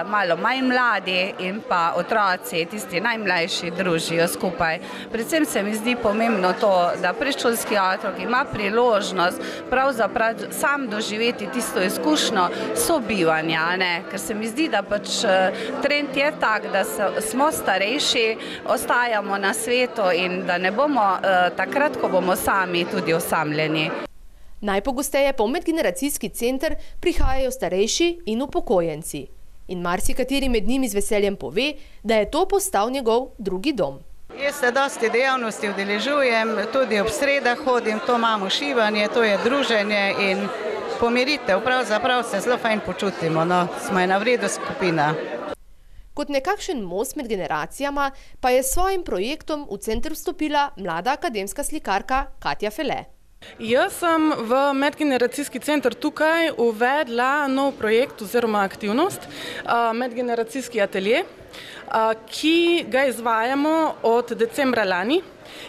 malo manj mladi in pa otroci, tisti najmlajši, družijo skupaj. Predvsem se mi zdi pomembno to, da predšolski otrok ima priložnost pravzaprav sam doživeti tisto izkušnjo sobivanja, ne? Ker se mi zdi, da pač trend je tak, da smo starejši, ostajamo na svetu in da ne bomo takrat, ko bomo sami tudi osamljeni. Najpogosteje pa v medgeneracijski center prihajajo starejši in upokojenci. In marsikateri med njimi z veseljem pove, da je to postal njegov drugi dom. Jaz se dosti dejavnosti udeležujem, tudi ob sredah hodim, to imamo šivanje, to je druženje in pomiritev. Pravzaprav se zelo fajn počutimo, no, smo ena v redu skupina. Kot nekakšen most med generacijama pa je s svojim projektom v center vstopila mlada akademska slikarka Katja Fele. Jaz sem v medgeneracijski center tukaj uvedla nov projekt oziroma aktivnost, medgeneracijski atelje, ki ga izvajamo od decembra lani.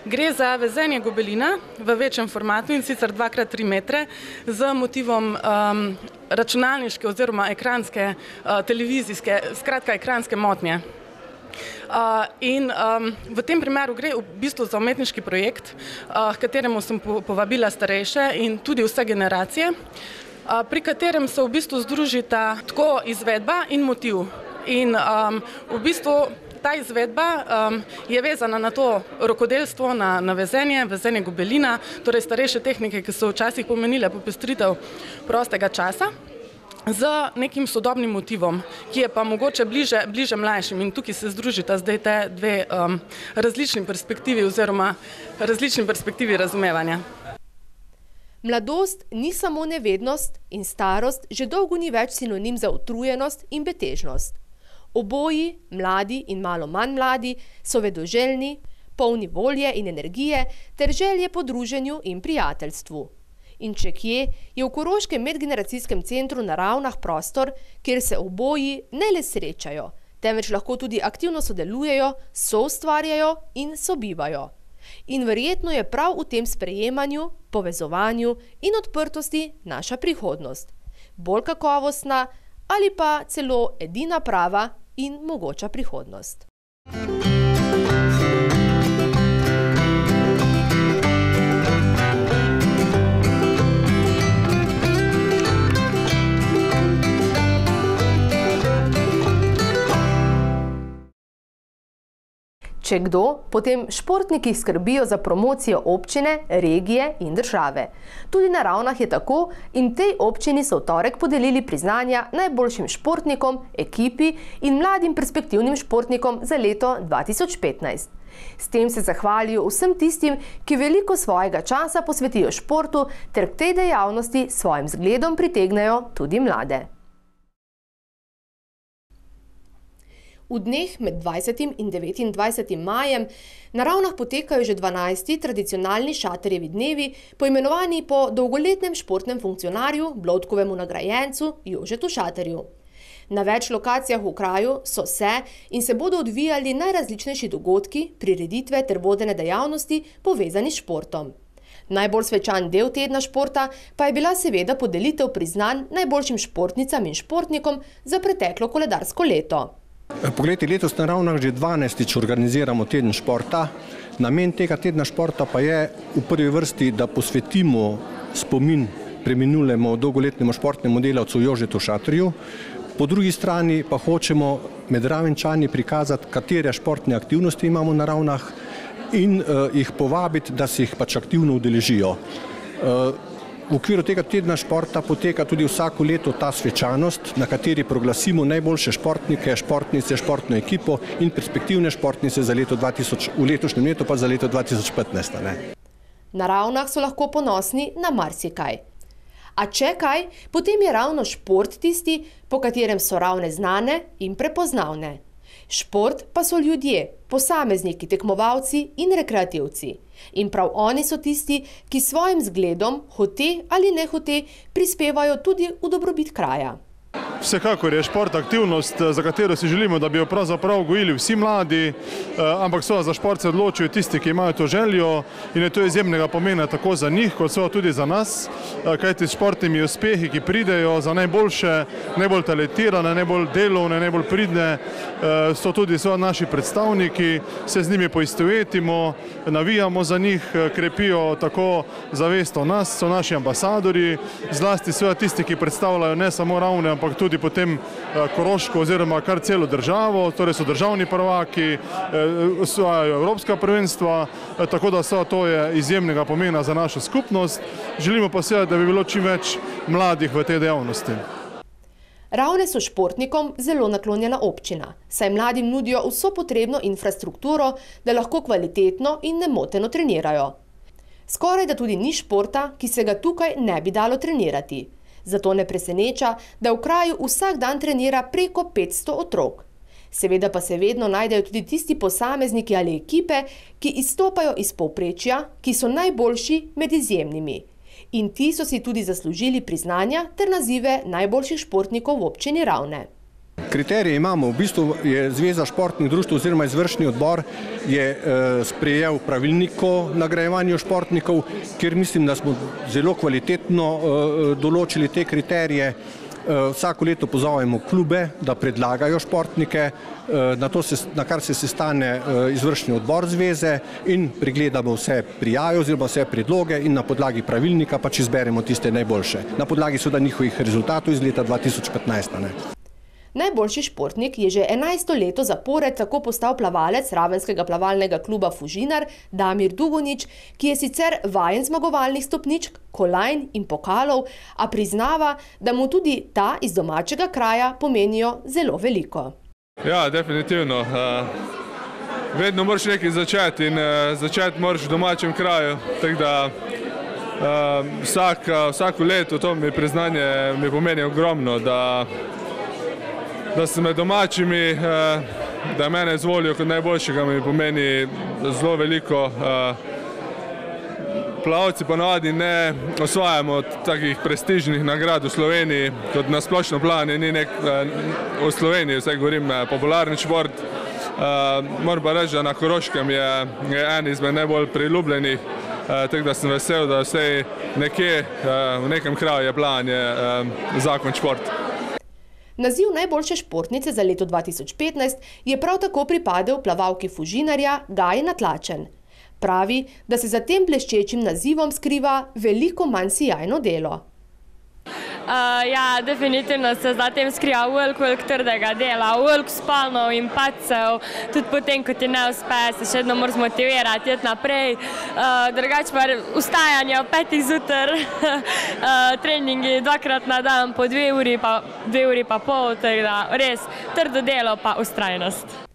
Gre za vezenje gobelina v večjem formatu in sicer dva krat tri metre z motivom um, računalniške oziroma ekranske, uh, televizijske, skratka ekranske motnje. Uh, in um, v tem primeru gre v bistvu za umetniški projekt, uh, v kateremu sem po povabila starejše in tudi vse generacije, uh, pri katerem se v bistvu združita tako izvedba in motiv. In um, v bistvu ta izvedba um, je vezana na to rokodelstvo, na, na vezenje, vezenje gobelina, torej starejše tehnike, ki so včasih pomenile popestritev prostega časa, z nekim sodobnim motivom, ki je pa mogoče bliže, bliže mlajšim in tukaj se združita zdaj te dve um, različni perspektivi oziroma različni perspektivi razumevanja. Mladost ni samo nevednost in starost že dolgo ni več sinonim za utrujenost in betežnost. Oboji, mladi in malo manj mladi, so vedoželjni, polni volje in energije ter želje po druženju in prijateljstvu. In če kje, je v Koroškem medgeneracijskem centru na Ravnah prostor, kjer se oboji ne le srečajo, temveč lahko tudi aktivno sodelujejo, soustvarjajo in sobivajo. In verjetno je prav v tem sprejemanju, povezovanju in odprtosti naša prihodnost. Bolj kakovostna ali pa celo edina prava in mogoča prihodnost. Če kdo, potem športniki skrbijo za promocijo občine, regije in države. Tudi na Ravnah je tako in tej občini so v torek podelili priznanja najboljšim športnikom, ekipi in mladim perspektivnim športnikom za leto dva tisoč petnajst. S tem se zahvalijo vsem tistim, ki veliko svojega časa posvetijo športu ter k tej dejavnosti s svojim zgledom pritegnejo tudi mlade. V dneh med dvajsetim in devetindvajsetim majem na Ravnah potekajo že dvanajsti tradicionalni šaterjevi dnevi, poimenovani po dolgoletnem športnem funkcionarju, Bloudkovemu nagrajencu Jožetu Šaterju. Na več lokacijah v kraju so se in se bodo odvijali najrazličnejši dogodki, prireditve ter vodene dejavnosti povezani s športom. Najbolj svečan del tedna športa pa je bila seveda podelitev priznanj najboljšim športnicam in športnikom za preteklo koledarsko leto. Poglejte, letos na Ravnah že dvanajstič organiziramo teden športa. Namen tega tedna športa pa je v prvi vrsti, da posvetimo spomin preminulemu dolgoletnemu športnemu delavcu Jožetu Šaterju. Po drugi strani pa hočemo med Ravenčani prikazati, katere športne aktivnosti imamo na Ravnah in uh, jih povabiti, da se jih pač aktivno udeležijo. Uh, V okviru tega tedna športa poteka tudi vsako leto ta svečanost, na kateri proglasimo najboljše športnike, športnice, športno ekipo in perspektivne športnice za leto dva tisoč, v letošnjem letu pa za leto dva tisoč petnajst. Ne? Na Ravnah so lahko ponosni na marsikaj. A če kaj, potem je ravno šport tisti, po katerem so Ravne znane in prepoznavne. Šport pa so ljudje, posamezniki, tekmovalci in rekreativci. In prav oni so tisti, ki svojim zgledom, hote ali ne hote, prispevajo tudi v dobrobit kraja. Vsekakor je šport aktivnost, za katero si želimo, da bi jo pravzaprav gojili vsi mladi, ampak so za šport se odločijo tisti, ki imajo to željo in je to izjemnega pomena tako za njih, kot so tudi za nas, kajti s športnimi uspehi, ki pridejo za najboljše, najbolj talentirane, najbolj delovne, najbolj pridne, so tudi so naši predstavniki, se z njimi poistovetimo, navijamo za njih, krepijo tako zavest o nas, so naši ambasadori, zlasti so tisti, ki predstavljajo ne samo Ravne, ampak tudi potem Koroško oziroma kar celo državo, torej so državni prvaki, osvajajo evropska prvenstva, tako da so to je izjemnega pomena za našo skupnost. Želimo pa seveda, da bi bilo čim več mladih v tej dejavnosti. Ravne so športnikom zelo naklonjena občina, saj mladim nudijo vso potrebno infrastrukturo, da lahko kvalitetno in nemoteno trenirajo. Skoraj da tudi ni športa, ki se ga tukaj ne bi dalo trenirati. Zato ne preseneča, da v kraju vsak dan trenira preko petsto otrok. Seveda pa se vedno najdejo tudi tisti posamezniki ali ekipe, ki izstopajo iz povprečja, ki so najboljši med izjemnimi. In ti so si tudi zaslužili priznanja ter nazive najboljših športnikov v občini Ravne. Kriterije imamo, v bistvu je Zveza športnih društev oziroma izvršni odbor je eh, sprejel pravilnik o nagrajevanju športnikov, kjer mislim, da smo zelo kvalitetno eh, določili te kriterije. Eh, vsako leto pozovemo klube, da predlagajo športnike, eh, na, to se, na kar se sestane eh, izvršni odbor zveze in pregledamo vse prijave oziroma vse predloge in na podlagi pravilnika pač izberemo tiste najboljše. Na podlagi seveda njihovih rezultatov iz leta dva tisoč petnajst. Ne? Najboljši športnik je že enajsto leto zapored tako postal plavalec Ravenskega plavalnega kluba Fužinar Damir Dugonič, ki je sicer vajen zmagovalnih stopničk, kolajn in pokalov, a priznava, da mu tudi ta iz domačega kraja pomenijo zelo veliko. Ja, definitivno. Vedno moraš nekaj začeti in začeti moraš v domačem kraju, tako da vsak, vsako leto to mi priznanje mi pomeni ogromno, da da sem med domačimi, da mene izvolijo kot najboljšega, mi pomeni zelo veliko. Plavalci ponavadi ne osvajamo takih prestižnih nagrad v Sloveniji, kot na splošno plane, ni nek v Sloveniji, vsaj govorim, popularni šport, Moram pa reči, da na Koroškem je en izmed najbolj priljubljenih, tako da sem vesel, da vsej nekje v nekem kraju je plan je zakon šport. Naziv najboljše športnice za leto dva tisoč petnajst je prav tako pripadel plavalki Fužinarja Gaji Natlačen. Pravi, da se za tem bleščečim nazivom skriva veliko manj sijajno delo. Uh, ja, definitivno se za tem skriva veliko, veliko trdega dela, veliko spalnov in padcev, tudi potem, ko ti ne uspe, se še vedno moraš motivirati, iti naprej. Uh, drugače pa vstajanje ob petih zjutraj, uh, treningi dvakrat na dan po dve uri pa, dve uri pa pol, tako da res trdo delo pa ustrajnost.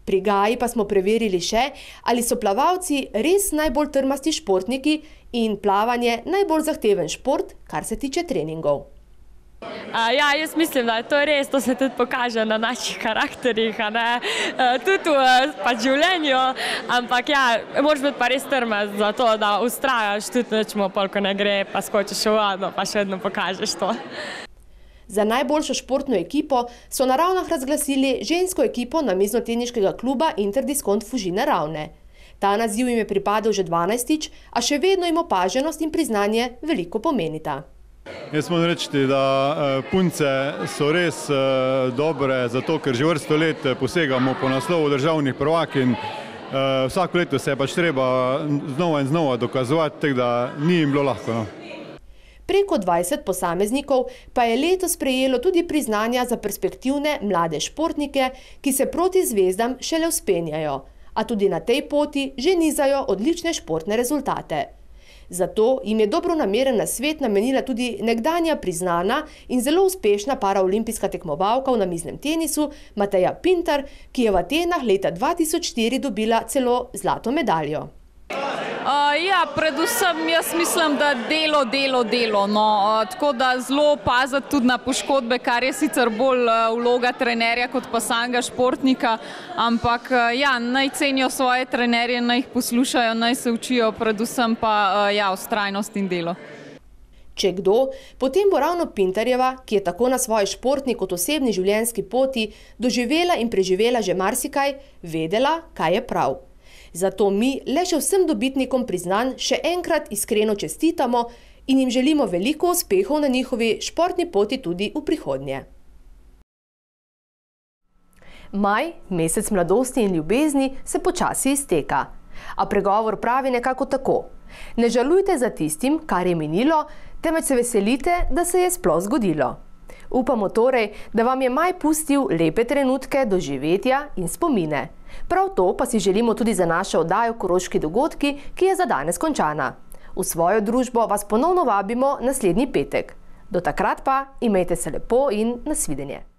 Pri Gaji pa smo preverili še, ali so plavalci res najbolj trmasti športniki in plavanje najbolj zahteven šport, kar se tiče treningov. Uh, ja, jaz mislim, da je to res, to se tudi pokaže na naših karakterih, a ne, uh, tudi v pa življenju, ampak ja, moraš biti pa res trmast za to, da ustrajaš, tudi nečemo pol, ko ne gre, pa skočiš v vodo, pa še vedno pokažeš to. Za najboljšo športno ekipo so na Ravnah razglasili žensko ekipo namiznoteniškega kluba Interdiskont Fužine Ravne. Ta naziv jim je pripadal že dvanajstič, a še vedno jim opaženost in priznanje veliko pomenita. Jaz moram reči, da punce so res dobre, zato ker že vrsto let posegamo po naslovu državnih prvakinj. Vsako leto se je pač treba znova in znova dokazovati, tako da ni jim bilo lahko. No. Preko dvajset posameznikov pa je letos prejelo tudi priznanja za perspektivne mlade športnike, ki se proti zvezdam šele vzpenjajo, a tudi na tej poti že nizajo odlične športne rezultate. Zato jim je dobronameren nasvet namenila tudi nekdanja priznana in zelo uspešna paraolimpijska tekmovalka v namiznem tenisu Mateja Pintar, ki je v Atenah leta dva tisoč štiri dobila celo zlato medaljo. Uh, ja, predvsem jaz mislim, da delo, delo, delo. No. Uh, tako da zelo paziti tudi na poškodbe, kar je sicer bolj uh, vloga trenerja kot pa samega športnika, ampak uh, ja, naj cenijo svoje trenerje, naj jih poslušajo, naj se učijo, predvsem pa uh, ja, vztrajnost in delo. Če kdo, potem bo ravno Pintarjeva, ki je tako na svoji športni kot osebni življenjski poti doživela in preživela že marsikaj, vedela, kaj je prav. Zato mi le še vsem dobitnikom priznanj še enkrat iskreno čestitamo in jim želimo veliko uspehov na njihovi športni poti tudi v prihodnje. Maj, mesec mladosti in ljubezni, se počasi izteka. A pregovor pravi nekako tako. Ne žalujte za tistim, kar je minilo, temveč se veselite, da se je sploh zgodilo. Upamo torej, da vam je maj pustil lepe trenutke doživetja in spomine. Prav to pa si želimo tudi za našo oddajo Koroški dogodki, ki je za danes končana. V svojo družbo vas ponovno vabimo naslednji petek. Do takrat pa imejte se lepo in nasvidenje.